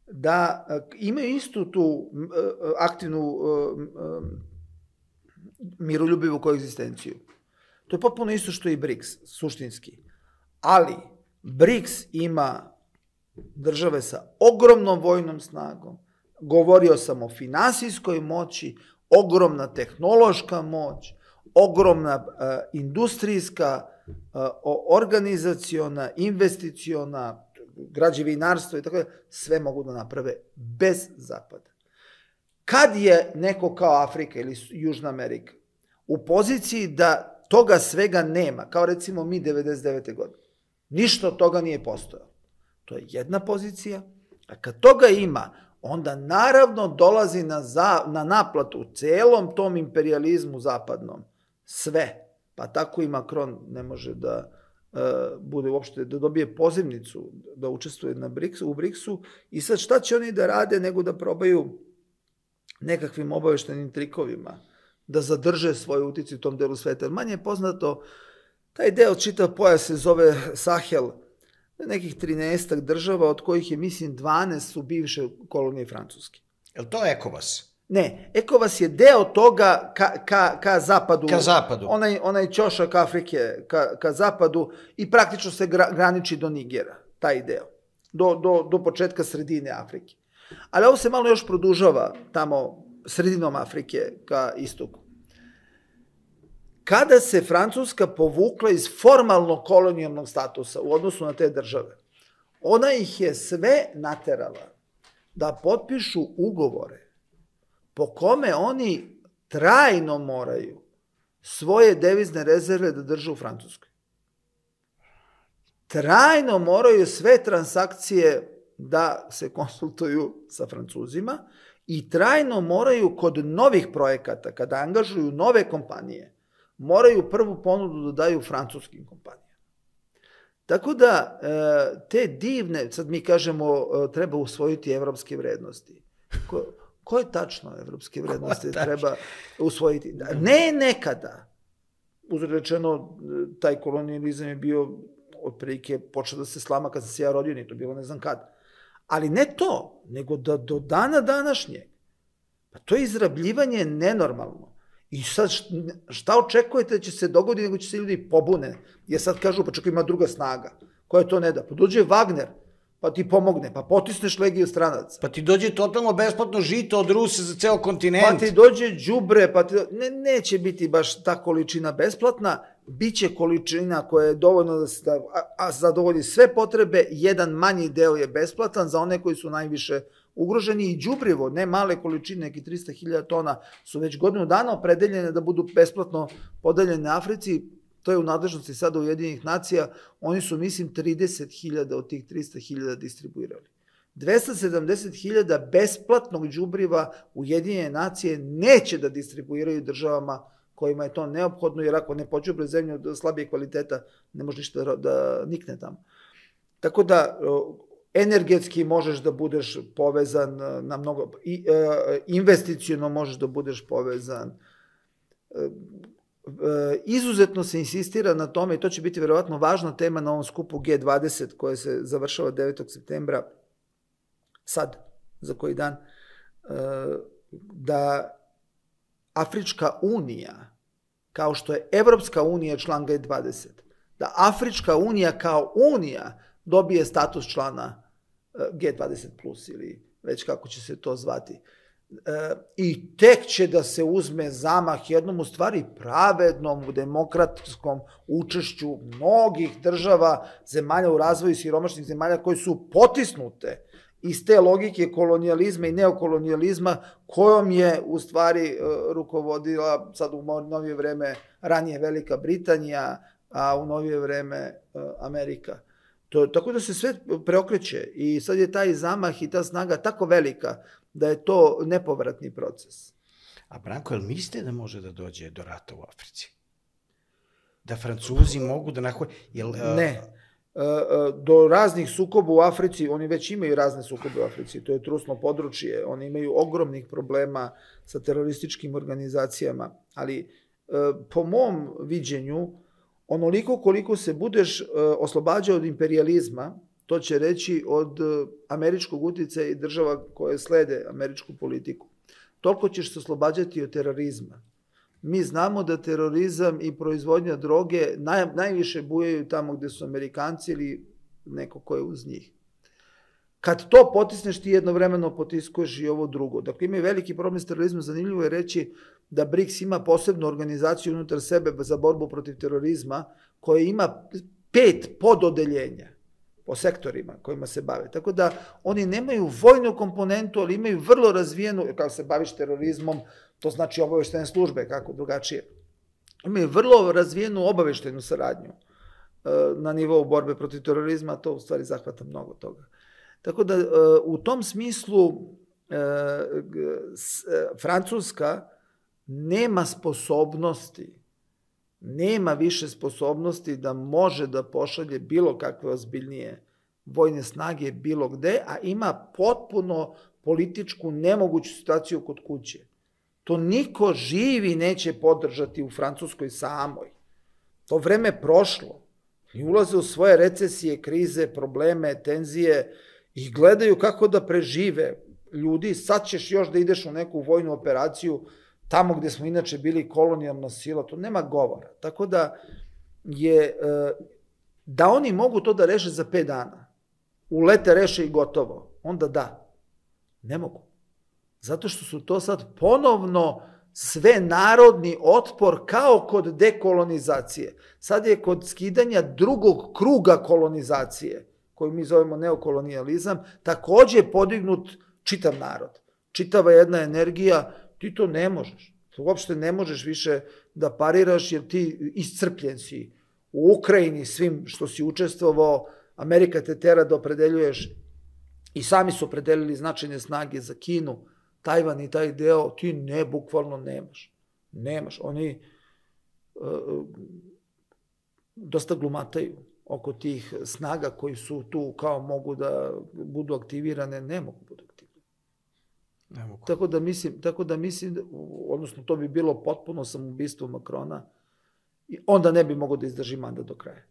da imaju istu tu aktivnu miroljubivu koegzistenciju. To je potpuno isto što i BRICS, suštinski. Ali BRICS ima države sa ogromnom vojnom snagom, govorio sam o finansijskoj moći, ogromna tehnološka moć, ogromna industrijska, organizaciona, investiciona, građevinarstvo i tako da, sve mogu da naprave bez Zapada. Kad je neko kao Afrika ili Južna Amerika u poziciji da toga svega nema, kao recimo mi devedeset devete godine, ništa od toga nije postojalo. To je jedna pozicija, a kad toga ima, onda naravno dolazi na, za, na naplatu u celom tom imperijalizmu zapadnom sve. Pa tako i Macron ne može da bude uopšte, da dobije pozivnicu, da učestvuje na BRICS, u BRICS-u i sad šta će oni da rade nego da probaju nekakvim obaveštenim trikovima da zadrže svoj uticaj u tom delu sveta. Manje je poznato, taj deo čitav pojas se zove Sahel, nekih trinaestak država, od kojih je, mislim, dvanaest su bivše kolonije Francuske. Je li to ECOWAS? Ne, ECOWAS je deo toga ka, ka, ka zapadu. Ka zapadu. Onaj, onaj ćošak Afrike ka, ka zapadu i praktično se gra, graniči do Nigera, taj deo. Do, do, do početka sredine Afrike. Ali ovo se malo još produžava tamo sredinom Afrike ka istoku. Kada se Francuska povukla iz formalno kolonijalnog statusa u odnosu na te države, ona ih je sve naterala da potpišu ugovore po kome oni trajno moraju svoje devizne rezerve da drže u Francuskoj. Trajno moraju sve transakcije da se konsultuju sa Francuzima i trajno moraju kod novih projekata, kada angažuju nove kompanije, moraju prvu ponudu da daju francuskim kompanijama. Tako da te divne, sad mi kažemo treba usvojiti evropske vrednosti. Ko, koje tačno evropske vrednosti treba usvojiti? Ne nekada. Uzrečeno, taj kolonijalizam je bio otprilike počeo da se slama kad sam se ja rodio, nije to bilo ne znam kada. Ali ne to, nego da do dana današnjeg. Pa to je izrabljivanje nenormalno. I sad šta očekujete da će se dogoditi, nego će se ljudi pobune. Jer sad kažu, pa čekaj, ima druga snaga. Koja to ne da? Pa dođe Wagner, pa ti pomogne, pa potisneš legiju stranaca. Pa ti dođe totalno besplatno žito od Rusa za ceo kontinent. Pa ti dođe đubre, pa ti... Ne, neće biti baš ta količina besplatna, biće količina koja je dovoljno da se da, a, zadovolji sve potrebe, jedan manji deo je besplatan za one koji su najviše ugroženi i đubrivo, ne male količine, neki trista hiljada tona su već godinu dana opredeljene da budu besplatno podeljene Africi, to je u nadležnosti sada Ujedinjenih nacija, oni su, mislim, trideset hiljada od tih trista hiljada distribuirali. dvesta sedamdeset hiljada besplatnog đubriva Ujedinjene nacije neće da distribuiraju državama kojima je to neophodno, jer ako ne pođubre zemlju od slabije kvaliteta, ne može ništa da, da nikne tamo. Tako da, energetski možeš da budeš povezan na mnogo, investiciono možeš da budeš povezan, izuzetno se insistira na tome i to će biti verovatno važna tema na ovom skupu G dvadeset koja se završava devetog septembra, sad, za koji dan, da Afrička unija, kao što je Evropska unija član G dvadeset, da Afrička unija kao unija dobije status člana G dvadeset plus ili već kako će se to zvati. I tek će da se uzme zamah jednom u stvari pravednom, u demokratskom učešću mnogih država, zemalja u razvoju, siromašnih zemalja koje su potisnute iz te logike kolonijalizma i neokolonijalizma kojom je u stvari rukovodila sad u novije vreme ranije Velika Britanija, a u novije vreme Amerika. To, tako da se sve preokreće i sad je taj zamah i ta snaga tako velika da je to nepovratni proces. A Branko, jel mislite da može da dođe do rata u Africi? Da Francuzi mogu da nahoj... Jel, ne. Do raznih sukoba u Africi, oni već imaju razne sukobe u Africi, to je trusno područje, oni imaju ogromnih problema sa terorističkim organizacijama, ali po mom viđenju, onoliko koliko se budeš oslobađao od imperializma, to će reći od američkog uticaja i država koje slede američku politiku, toliko ćeš se oslobađati od terorizma. Mi znamo da terorizam i proizvodnja droge naj, najviše bujaju tamo gde su Amerikanci ili neko ko je uz njih. Kad to potisneš, ti jednovremeno potiskuješ i ovo drugo. Dakle, ima veliki problem s terorizmom. Zanimljivo je reći da BRICS ima posebnu organizaciju unutar sebe za borbu protiv terorizma, koja ima pet pododeljenja po sektorima kojima se bave. Tako da oni nemaju vojnu komponentu, ali imaju vrlo razvijenu, kao se baviš terorizmom, to znači obaveštene službe, kako drugačije. Imaju vrlo razvijenu obaveštenu saradnju na nivou borbe protiv terorizma, to u stvari zahvata mnogo toga. Tako da u tom smislu Francuska nema sposobnosti, nema više sposobnosti da može da pošalje bilo kakve ozbiljnije vojne snage bilo gde, a ima potpuno političku nemoguću situaciju kod kuće. To niko živi neće podržati u Francuskoj samoj. To vreme je prošlo. I ulaze u svoje recesije, krize, probleme, tenzije i gledaju kako da prežive ljudi. Sad ćeš još da ideš u neku vojnu operaciju tamo gde smo inače bili kolonijalna sila. To nema govora. Tako da je, da oni mogu to da reše za pet dana, ulete, reše i gotovo, onda da. Ne mogu. Zato što su to sad ponovno sve narodni otpor kao kod dekolonizacije. Sad je kod skidanja drugog kruga kolonizacije, koju mi zovemo neokolonijalizam, takođe podignut čitav narod. Čitava jedna energija, ti to ne možeš. Uopšte ne možeš više da pariraš jer ti iscrpljen si u Ukrajini svim što si učestvovao, Amerika te tera da opredeljuješ i sami su opredelili značajne snage za Kinu, Tajvan i taj deo, ti ne, bukvalno nemaš. Nemaš. Oni uh, dosta glumataju oko tih snaga koji su tu kao mogu da budu aktivirane, ne mogu budu aktivirane. Ne mogu. Tako da mislim, tako da mislim, odnosno to bi bilo potpuno samoubistvo Makrona, i onda ne bi mogao da izdrži mandat do kraja.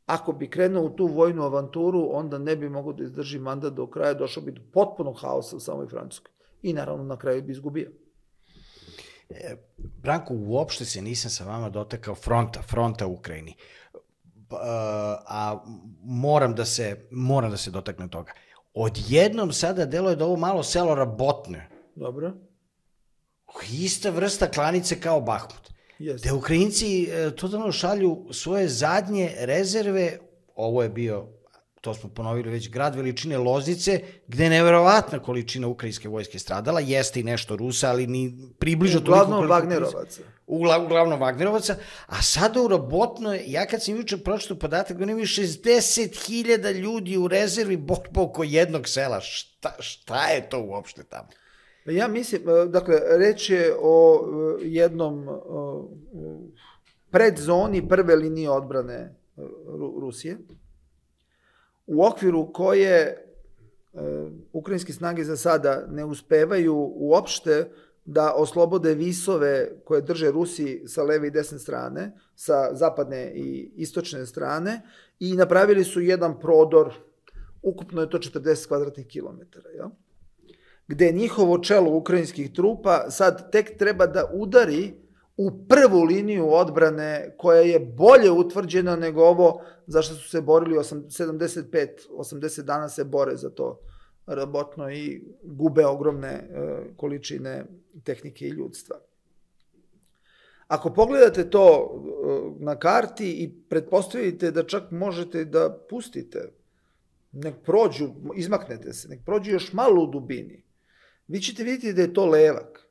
Ako bi krenuo u tu vojnu avanturu, onda ne bi mogao da izdrži mandat do kraja, došao bi do potpunog haosa u samoj Francuskoj. I naravno na kraju bi izgubio. E, Branko, uopšte se nisam sa vama dotakao fronta, fronta u Ukrajini. A, a moram da se, moram da se dotaknem toga. Odjednom sada deluje da ovo malo selo Rabotne. Dobro. Ista vrsta klanice kao Bahmut. Yes. Da Ukrajinci e, totalno šalju svoje zadnje rezerve, ovo je bio, to smo ponovili već, grad veličine Loznice, gde je neverovatna količina ukrajinske vojske stradala, jeste i nešto Rusa, ali ni približno toliko koliko... Uglavnom Vagnerovaca. Uglavnom Vagnerovaca, a sada u Rabotno, ja kad sam juče pročitao podatak, oni imaju šezdeset hiljada ljudi u rezervi borba oko jednog sela. Šta, šta je to uopšte tamo? Ja mislim, dakle, reč je o jednom predzoni prve linije odbrane Rusije, u okviru koje ukrajinske snage za sada ne uspevaju uopšte da oslobode visove koje drže Rusi sa leve i desne strane, sa zapadne i istočne strane, i napravili su jedan prodor, ukupno je to četrdeset kvadratnih kilometara, jel? Gde njihovo čelo ukrajinskih trupa sad tek treba da udari u prvu liniju odbrane koja je bolje utvrđena nego ovo za što su se borili sedamdeset pet osamdeset dana se bore za to Rabotno i gube ogromne količine tehnike i ljudstva. Ako pogledate to na karti i pretpostavite da čak možete da pustite, nek prođu, izmaknete se, nek prođu još malo u dubini, vi ćete vidjeti da je to levak.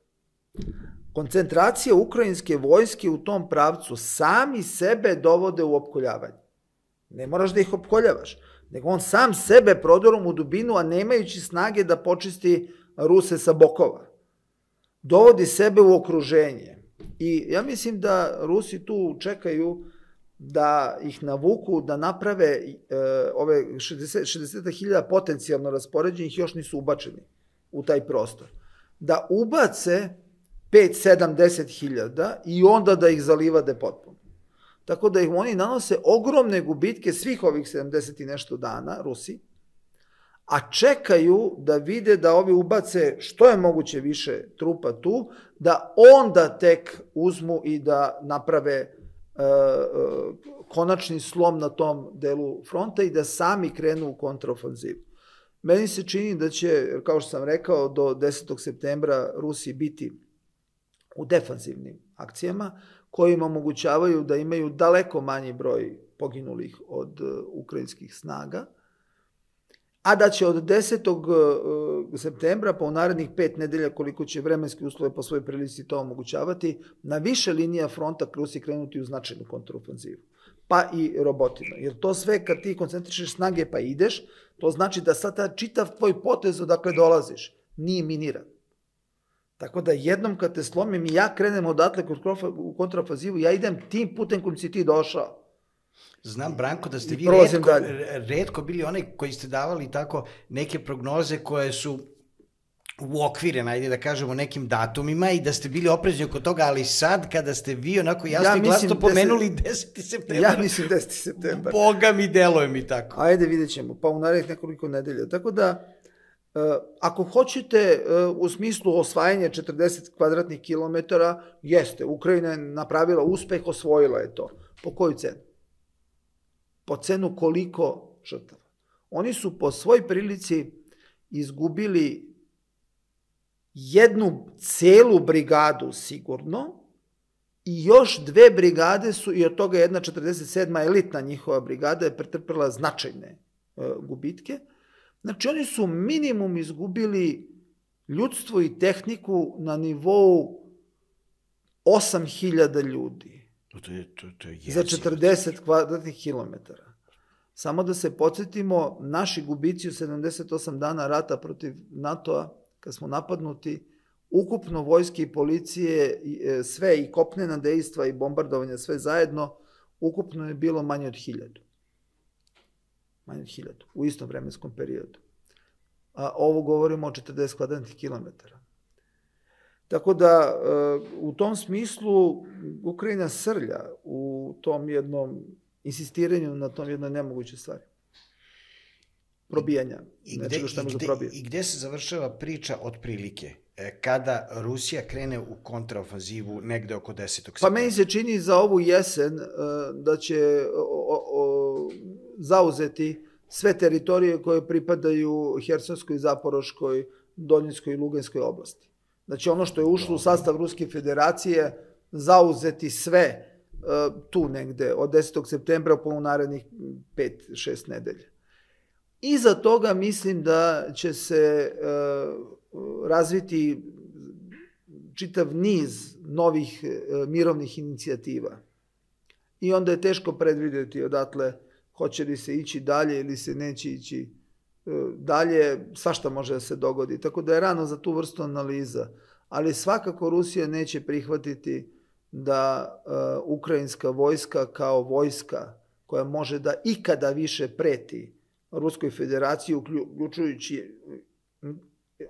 Koncentracija ukrajinske vojske u tom pravcu sami sebe dovode u opkoljavanje. Ne moraš da ih opkoljavaš, nego on sam sebe prodorom u dubinu, a nemajući snage da počisti Ruse sa bokova. Dovodi sebe u okruženje. I ja mislim da Rusi tu čekaju da ih navuku, da naprave e, ove šezdeset hiljada potencijalno raspoređenih, još nisu ubačeni u taj prostor. Da ubace pet, sedam, deset hiljada i onda da ih zalivade potpuno. Tako da ih oni nanose ogromne gubitke svih ovih sedamdeset i nešto dana, Rusi, a čekaju da vide da ovi ubace što je moguće više trupa tu, da onda tek uzmu i da naprave e, e, konačni slom na tom delu fronta i da sami krenu u kontraofanzivu. Meni se čini da će, kao što sam rekao, do desetog septembra Rusi biti u defanzivnim akcijama, koji im omogućavaju da imaju daleko manji broj poginulih od ukrajinskih snaga, a da će od desetog septembra, pa u narednih pet nedelja, koliko će vremenski uslove po svojoj prilici to omogućavati, na više linija fronta Rusi krenuti u značajnu kontraofanzivu, pa i robotima. Jer to sve, kad ti koncentrišeš snage pa ideš, to znači da sad čitav tvoj potez odakle dolaziš nije miniran. Tako da jednom kad te slomim i ja krenem odatle u kontraofanzivu, ja idem tim putem kojim si ti došao. Znam, Branko, da ste vi retko, retko bili onaj koji ste davali tako neke prognoze koje su uokvirene, ajde da kažemo, nekim datumima i da ste bili oprezni oko toga, ali sad kada ste vi onako jasno i glasno pomenuli deseti septembar. Ja mislim deseti septembar. Boga mi, deluje mi tako. Ajde, vidjet ćemo, pa u narednih nekoliko nedelja. Tako da, ako hoćete u smislu osvajanja četrdeset kvadratnih kilometara, jeste, Ukrajina je napravila uspeh, osvojila je to. Po koju cenu? Po cenu koliko žrtava. Oni su po svoj prilici izgubili jednu celu brigadu sigurno i još dve brigade su, i od toga jedna četrdeset sedma elitna njihova brigada je pretrpela značajne gubitke. Znači oni su minimum izgubili ljudstvo i tehniku na nivou osam hiljada ljudi. To je, to, to je za četrdeset kvadratnih kilometara. Samo da se podsjetimo, naši gubici u sedamdeset osam dana rata protiv NATO-a, kad smo napadnuti, ukupno vojske i policije, sve i kopnena dejstva i bombardovanja, sve zajedno, ukupno je bilo manje od hiljadu. Manje od hiljadu, u istom vremenskom periodu. A ovo govorimo o četrdeset kvadratnih kilometara. Tako da, u tom smislu, Ukrajina srlja u tom jednom insistiranju na tom jednoj nemogućoj stvari. Probijanja. I gde, i, gde, I gde se završava priča otprilike? Kada Rusija krene u kontraofanzivu negde oko desetog septembra? Pa meni se čini za ovu jesen da će o, o, zauzeti sve teritorije koje pripadaju Hersonskoj, Zaporoškoj, Donjeckoj i Luganskoj oblasti. Znači ono što je ušlo u sastav Ruske federacije, zauzeti sve tu negde od desetog septembra po narednih pet šest nedelja. Iza toga mislim da će se razviti čitav niz novih mirovnih inicijativa. I onda je teško predvidjeti odatle hoće li se ići dalje ili se neće ići dalje, svašta može da se dogodi. Tako da je rano za tu vrstu analiza. Ali svakako Rusija neće prihvatiti da uh, ukrajinska vojska kao vojska koja može da ikada više preti Ruskoj federaciji, uključujući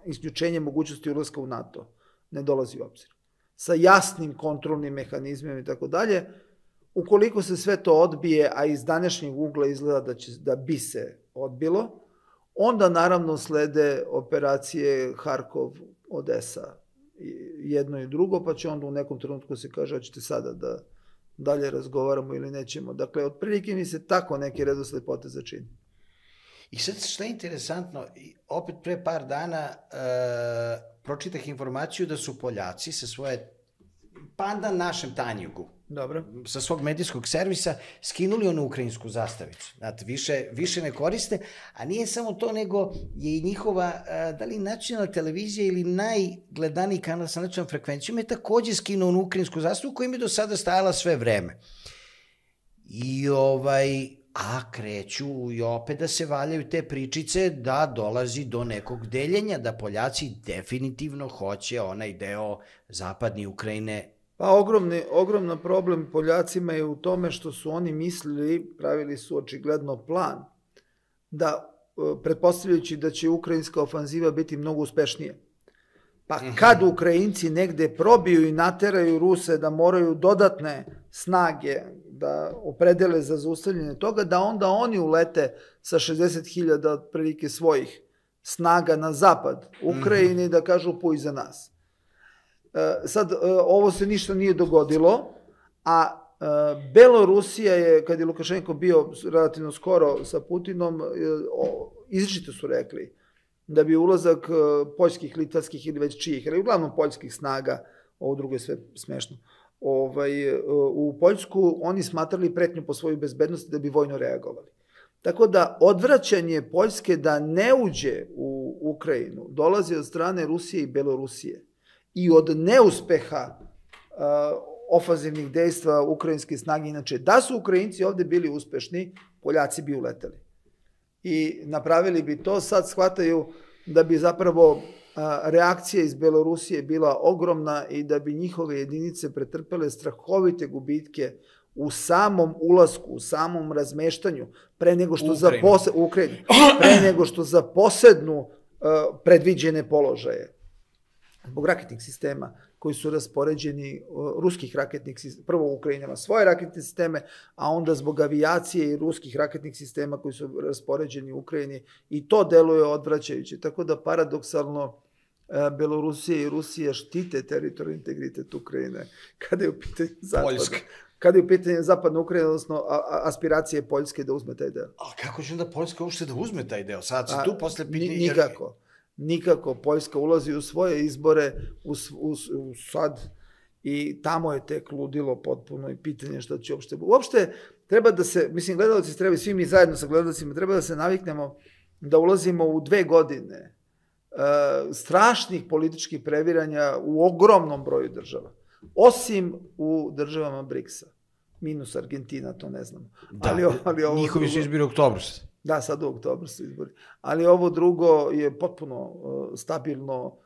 isključenje mogućnosti ulaska u NATO, ne dolazi u obzir. Sa jasnim kontrolnim mehanizmima i tako dalje, ukoliko se sve to odbije, a iz današnjeg ugla izgleda da, će, da bi se odbilo, onda naravno slede operacije Harkov, Odesa, jedno i drugo, pa će onda u nekom trenutku se kaže, hoćete sada da dalje razgovaramo ili nećemo. Dakle, otprilike mi se tako neki redosled poteza čini. I sad što je interesantno, opet pre par dana e, pročitah informaciju da su Poljaci sa svoje, pa na našem Tanjugu, dobro, sa svog medijskog servisa, skinuli onu ukrajinsku zastavicu. Znate, više, više ne koriste, a nije samo to, nego je i njihova, da li nacionalna televizija ili najgledaniji kanal sa nacionalnom frekvencijom je takođe skinuo onu ukrajinsku zastavu koja im je do sada stajala sve vreme. I ovaj, a kreću i opet da se valjaju te pričice da dolazi do nekog deljenja, da Poljaci definitivno hoće onaj deo zapadne Ukrajine. Pa ogromni, ogromna problem Poljacima je u tome što su oni mislili, pravili su očigledno plan, da pretpostavljajući da će ukrajinska ofanziva biti mnogo uspešnije. Pa kad Ukrajinci negde probiju i nateraju Ruse da moraju dodatne snage da opredele za zaustavljanje toga, da onda oni ulete sa šezdeset hiljada otprilike svojih snaga na zapad Ukrajine i da kažu puj za nas. Sad, ovo se ništa nije dogodilo, a Belorusija je, kad je Lukašenko bio relativno skoro sa Putinom, izričito su rekli da bi ulazak poljskih, litavskih ili već čijih, ali uglavnom poljskih snaga, ovo drugo je sve smešno, u Poljsku oni smatrali pretnju po svojoj bezbednosti da bi vojno reagovali. Tako da odvraćanje Poljske da ne uđe u Ukrajinu dolazi od strane Rusije i Belorusije i od neuspeha ofanzivnih dejstva ukrajinske snage. Inače, da su Ukrajinci ovde bili uspešni, Poljaci bi uleteli. I napravili bi to, sad shvataju da bi zapravo reakcija iz Belorusije bila ogromna i da bi njihove jedinice pretrpele strahovite gubitke u samom ulasku, u samom razmeštanju, pre nego što zaposed... u Ukrajinu, pre nego što zaposednu predviđene položaje. Zbog raketnih sistema koji su raspoređeni, ruskih raketnih sistema, prvo Ukrajina ima svoje raketne sisteme, a onda zbog avijacije i ruskih raketnih sistema koji su raspoređeni u Ukrajini, i to deluje odvraćajuće. Tako da paradoksalno Belorusija i Rusija štite teritorijalni integritet Ukrajine kada je u pitanju zapada. Kada je u pitanju zapadna Ukrajina, odnosno aspiracije Poljske da uzme taj deo. A kako će onda Poljska uopšte da uzme taj deo? Sad se tu posle pitanje... Nikako. Nikako. Poljska ulazi u svoje izbore u, u, u sad i tamo je tek ludilo potpuno i pitanje šta će uopšte... Uopšte treba da se, mislim, gledalci treba, svi mi zajedno sa gledalcima, treba da se naviknemo da ulazimo u dve godine uh, strašnih političkih previranja u ogromnom broju država. Osim u državama briksa. Minus Argentina, to ne znamo. Da, ali, ali ovo njihovi drugo... su izbiri u oktobru. Da, sad u oktobru su izbori. Ali ovo drugo je potpuno uh, stabilno.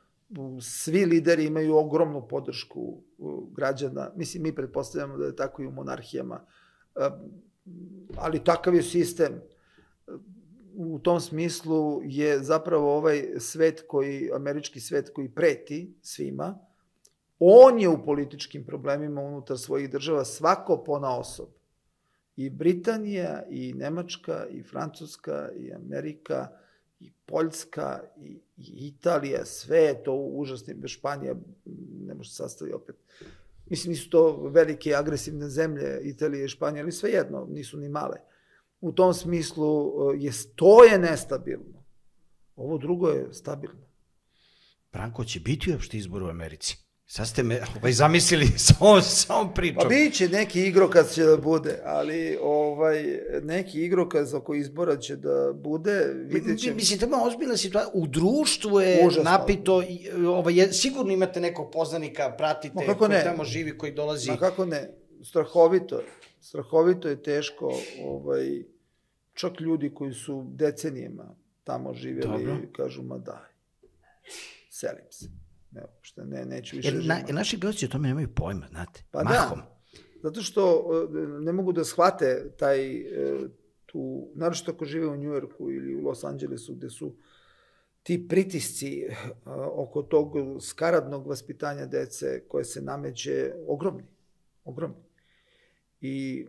Svi lideri imaju ogromnu podršku uh, građana. Mislim, mi pretpostavljamo da je tako i u monarhijama. Uh, ali takav je sistem. U tom smislu je zapravo ovaj svet koji, američki svet koji preti svima, on je u političkim problemima unutar svojih država svako ponaosob. I Britanija, i Nemačka, i Francuska, i Amerika, i Poljska, i, i Italija, sve je to užasno. Španija ne može se sastaviti opet. Mislim, nisu to velike agresivne zemlje, Italija i Španija, ali svejedno, nisu ni male. U tom smislu je, to je nestabilno. Ovo drugo je stabilno. Branko, će biti uopšte izbor u Americi? Sad ste me ovaj, zamislili sa ovom, sa ovom pričom. Pa bit će neki igrokaz će da bude, ali ovaj, neki igrokaz oko izbora će da bude, vidjet ćemo. Mislim, to je ozbiljna situacija. U društvu je užasno napito, ovaj, sigurno imate nekog poznanika, pratite, koji ne? Tamo živi, koji dolazi. Ma kako ne, strahovito je, strahovito je teško, ovaj, čak ljudi koji su decenijima tamo živjeli, dobro, kažu, ma daj, selim se. Ne, što ne, neću više živjeti. Na, naši gledalci o tome nemaju pojma, znate, pa mahom. Da, zato što ne mogu da shvate taj, tu, naročito ako žive u Njujorku ili u Los Angelesu, gde su ti pritisci oko tog skaradnog vaspitanja dece koje se nameće ogromni, ogromni. I,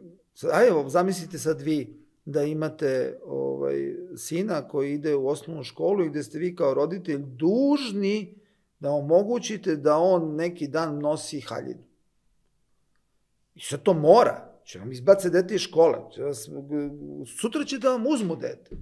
a evo, zamislite sad vi da imate ovaj, sina koji ide u osnovnu školu i gde ste vi kao roditelj dužni da omogućite da on neki dan nosi haljinu. I sad to mora. Će vam izbace dete iz škole. Sutra će da vam uzmu dete.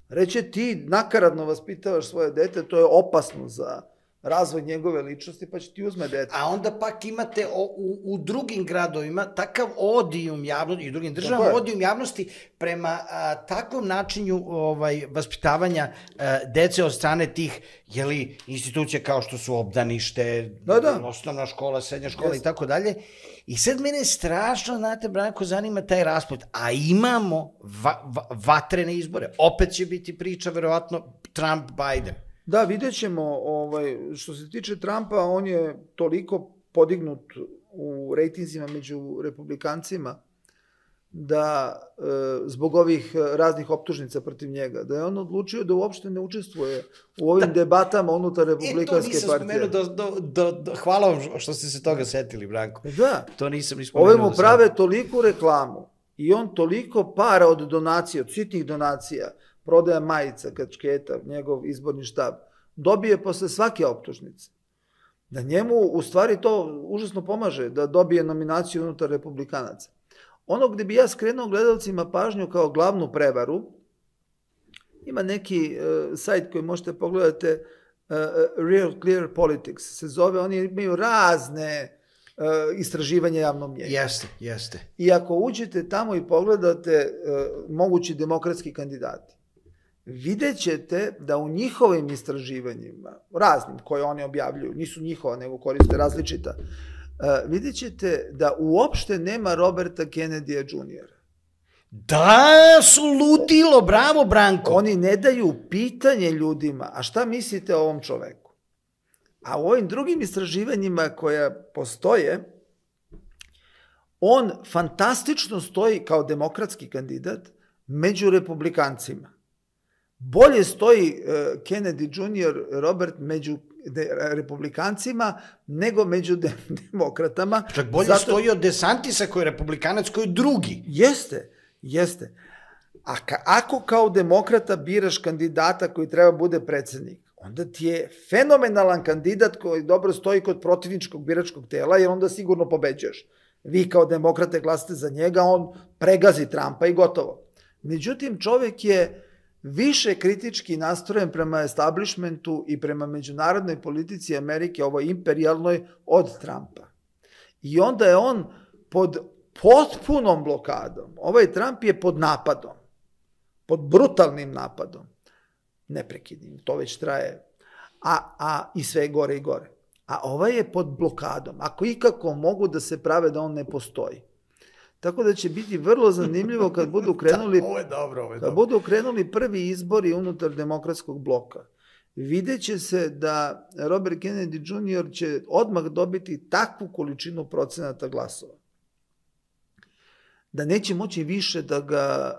Reće ti nakaradno vaspitavaš svoje dete, to je opasno za razvoj njegove ličnosti, pa će ti uzme dete. A onda pak imate o, u, u drugim gradovima takav odijum javnosti i u drugim državama odijum javnosti prema a, takvom načinu ovaj, vaspitavanja a, dece od strane tih jeli, institucija kao što su obdanište, da, da. osnovna škola, srednja škola yes. i tako dalje. I sad mene strašno, znate, Branko, zanima taj rasplet. A imamo va, va, vatrene izbore. Opet će biti priča, verovatno, Trump-Biden. Da, vidjet ćemo, ovaj, što se tiče Trumpa, on je toliko podignut u rejtinzima među republikancima da e, zbog ovih raznih optužnica protiv njega, da je on odlučio da uopšte ne učestvuje u ovim da. debatama unutar republikanske partije. E, to nisam spomenuo, do, do, do, do, hvala vam što ste se toga setili, Branko. Da. To nisam ni spomenuo. Ove mu prave toliku reklamu i on toliko para od donacija, od sitnih donacija, prodaja majica, kačketa, njegov izborni štab, dobije posle svake optužnice. Da njemu u stvari to užasno pomaže, da dobije nominaciju unutar republikanaca. Ono gde bi ja skrenuo gledalcima pažnju kao glavnu prevaru, ima neki uh, sajt koji možete pogledati, uh, Real Clear Politics, se zove, oni imaju razne uh, istraživanja javnog mnjenja. Jeste, jeste. I ako uđete tamo i pogledate uh, mogući demokratski kandidati, vidjet ćete da u njihovim istraživanjima, raznim koje oni objavljuju, nisu njihova, nego koriste različita, uh, vidjet ćete da uopšte nema Roberta Kennedy-a juniora Da, su ludilo, bravo Branko. Oni ne daju pitanje ljudima, a šta mislite o ovom čoveku? A u ovim drugim istraživanjima koja postoje, on fantastično stoji kao demokratski kandidat među republikancima. Bolje stoji uh, Kennedy junior Robert među de, republikancima nego među de, demokratama. Čak bolje Zato... stoji od DeSantisa koji je republikanac, koji je drugi. Jeste, jeste. A ka, ako kao demokrata biraš kandidata koji treba bude predsednik, onda ti je fenomenalan kandidat koji dobro stoji kod protivničkog biračkog tela, jer onda sigurno pobeđuješ. Vi kao demokrate glasate za njega, on pregazi Trumpa i gotovo. Međutim, čovek je više kritički nastrojen prema establishmentu i prema međunarodnoj politici Amerike, ovoj imperijalnoj, od Trumpa. I onda je on pod potpunom blokadom. Ovaj Trump je pod napadom, pod brutalnim napadom, neprekidnim, to već traje, a, a i sve gore i gore. A ovaj je pod blokadom. Ako ikako mogu da se prave da on ne postoji. Tako da će biti vrlo zanimljivo kad budu krenuli, ovo je dobro, ovo je kad dobro. budu krenuli prvi izbori unutar demokratskog bloka. Vidjet će se da Robert Kennedy junior će odmah dobiti takvu količinu procenata glasova, da neće moći više da, ga,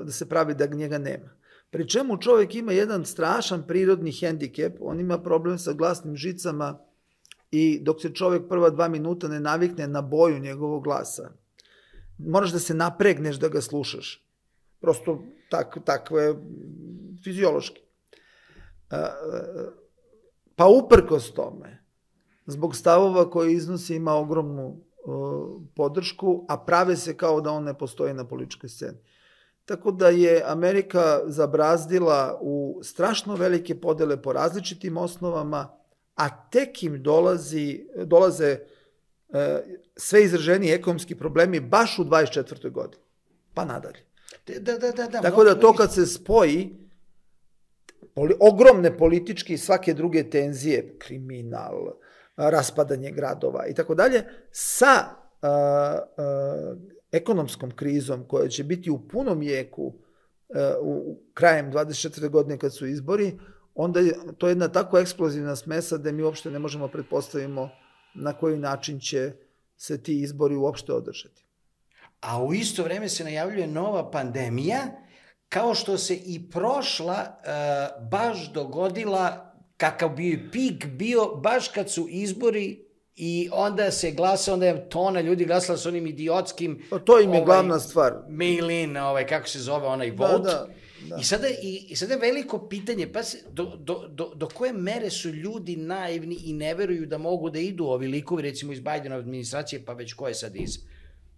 da se pravi da njega nema. Pri čemu čovjek ima jedan strašan prirodni hendikep, on ima problem sa glasnim žicama i dok se čovjek prva dva minuta ne navikne na boju njegovog glasa, moraš da se napregneš da ga slušaš. Prosto tak, takvo je fiziološki. Pa uprkos tome, zbog stavova koje iznosi ima ogromnu podršku, a prave se kao da on ne postoji na političkoj sceni. Tako da je Amerika zabrazdila u strašno velike podele po različitim osnovama, a tek im dolazi, dolaze e, sve izraženiji ekonomski problemi baš u dvadeset četvrtoj godini, pa nadalje. Da, da, da, da, Tako da to kad se spoji, poli, ogromne političke i svake druge tenzije, kriminal, raspadanje gradova i tako dalje, sa a, a, ekonomskom krizom koja će biti u punom jeku a, u krajem dvadeset četvrte godine kad su izbori, onda je to jedna tako eksplozivna smesa da mi uopšte ne možemo pretpostavimo na koji način će se ti izbori uopšte održati. A u isto vreme se najavljuje nova pandemija, kao što se i prošla uh, baš dogodila, kakav bio pik bio, baš kad su izbori i onda se glasa, onda je tona ljudi glasala s onim idiotskim... Pa to im je ovaj, glavna stvar. Mail-in, ovaj, kako se zove, onaj vote. Da, da. Da. I sada, i, I sada je veliko pitanje, pa se, do, do, do, do koje mere su ljudi naivni i ne veruju da mogu da idu ovi likovi, recimo iz Bidenove administracije, pa već ko je sad iz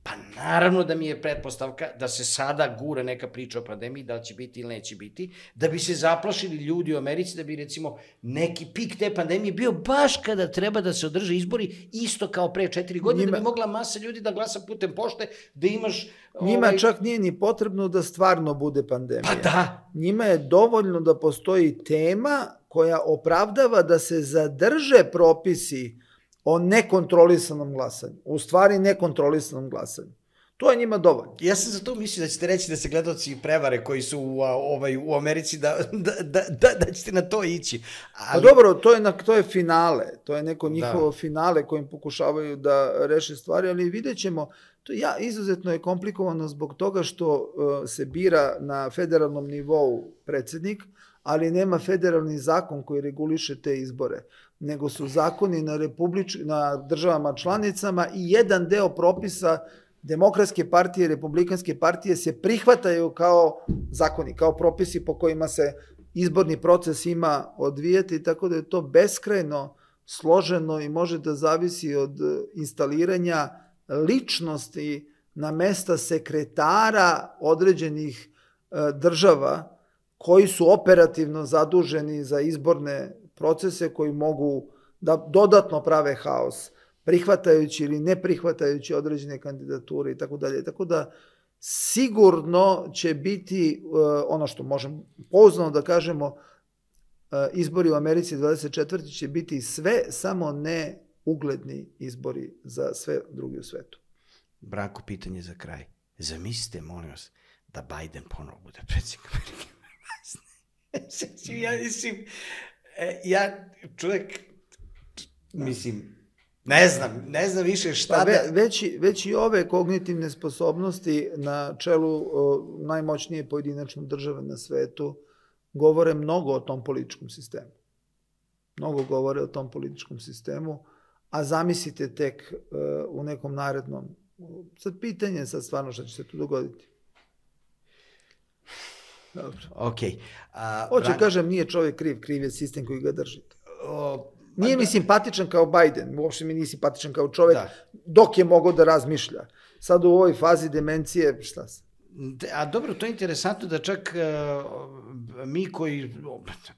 Pa naravno da mi je pretpostavka da se sada gura neka priča o pandemiji, da li će biti ili neće biti, da bi se zaplašili ljudi u Americi, da bi recimo neki pik te pandemije bio baš kada treba da se održe izbori, isto kao pre četiri godine, njima, da bi mogla masa ljudi da glasa putem pošte, da imaš... Njima ovaj... čak nije ni potrebno da stvarno bude pandemija. Pa da! Njima je dovoljno da postoji tema koja opravdava da se zadrže propisi o nekontrolisanom glasanju. U stvari nekontrolisanom glasanju. To je njima dovoljno. Ja sam za to mislio da ćete reći da se gledaoci prevare koji su u, ovaj, u Americi, da, da, da, da, da ćete na to ići. Ali... Pa dobro, to je, na, to je finale. To je neko njihovo da. finale kojim pokušavaju da reše stvari, ali vidjet ćemo. To ja, izuzetno je komplikovano zbog toga što uh, se bira na federalnom nivou predsjednik, ali nema federalni zakon koji reguliše te izbore, nego su zakoni na, republič, na državama članicama i jedan deo propisa Demokratske partije i Republikanske partije se prihvataju kao zakoni, kao propisi po kojima se izborni proces ima odvijati, tako da je to beskrajno složeno i može da zavisi od instaliranja ličnosti na mesta sekretara određenih država koji su operativno zaduženi za izborne procese koji mogu da dodatno prave haos, prihvatajući ili ne prihvatajući određene kandidature i tako dalje. Tako da sigurno će biti, ono što možemo pouzdano da kažemo, izbori u Americi dvadeset četvrte će biti sve, samo ne ugledni izbori za sve drugi u svetu. Branko, pitanje za kraj. Zamislite, molim vas, da Biden ponovo bude predsjednik Amerike. Ja mislim, ja čovjek, mislim, ne znam, ne znam više šta pa ve, da... Već, već i ove kognitivne sposobnosti na čelu o, najmoćnije pojedinačne države na svetu govore mnogo o tom političkom sistemu. Mnogo govore o tom političkom sistemu, a zamislite tek uh, u nekom narednom... Sad pitanje, sad stvarno šta će se tu dogoditi. Dobro. Okay. Uh, Hoće, Bran... kažem, nije čovjek kriv, kriv je sistem koji ga drži. O, nije mi da... simpatičan kao Biden, uopšte mi nije simpatičan kao čovjek, da. Dok je mogao da razmišlja. Sad u ovoj fazi demencije, šta se? A dobro, to je interesantno da čak uh, mi koji,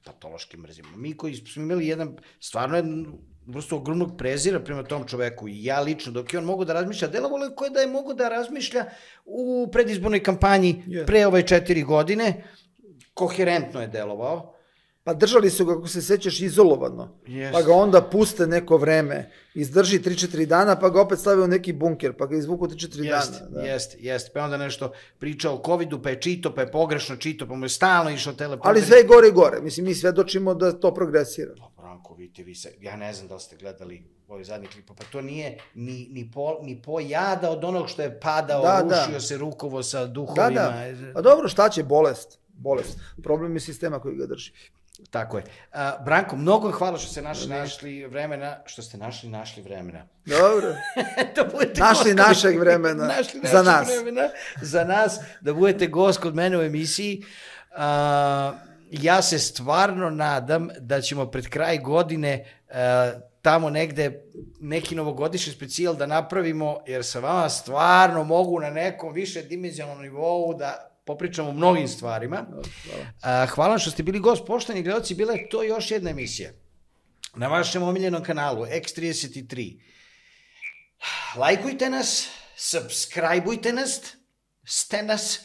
patološki mrzimo, mi koji smo imali jedan, stvarno jedan vrstu ogromnog prezira prema tom čoveku i ja lično, dok je on mogu da razmišlja, delovalo koje da je mogu da razmišlja u predizbornoj kampanji yeah. pre ove četiri godine, koherentno je delovao. Pa držali su ga, kako se sećaš, izolovano, yes. Pa ga onda puste neko vreme, izdrži tri četiri dana, pa ga opet stavio u neki bunker, pa ga izvuku tri četiri jest, dana. Da. Jeste, jeste, pa onda nešto pričao o covidu, pa je čito, pa je pogrešno čito, pa mu je stalno išao teleprompter. Ali sve je gore i gore, mislim, mi svedočimo da to progresira. Pa Branko, vidite, vi se, ja ne znam da li ste gledali ovaj zadnji klip, pa to nije ni, ni, po, ni po jada od onog što je padao, da, rušio da. se rukovo sa duhovima. Da, da, pa dobro, šta će, bolest, bolest, problem je sistema koji ga drži. Tako je. Uh, Branko, mnogo hvala što ste našli, našli vremena, što ste našli, našli vremena. Dobro. da našli našeg vremena, našli za nas. Vremena, za nas, da budete gost kod mene u emisiji. Uh, ja se stvarno nadam da ćemo pred kraj godine uh, tamo negde neki novogodišnji specijal da napravimo, jer sa vama stvarno mogu na nekom više dimenzionalnom nivou da popričamo o mnogim stvarima. Hvala. Hvala što ste bili gost. Poštovani gledalci, bila je to još jedna emisija na vašem omiljenom kanalu X trideset tri. Lajkujte nas, subscribeujte nas, ste nas,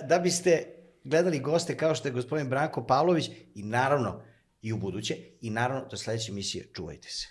da biste gledali goste kao što je gospodin Branko Pavlović i naravno i u buduće i naravno do sledeće emisije čuvajte se.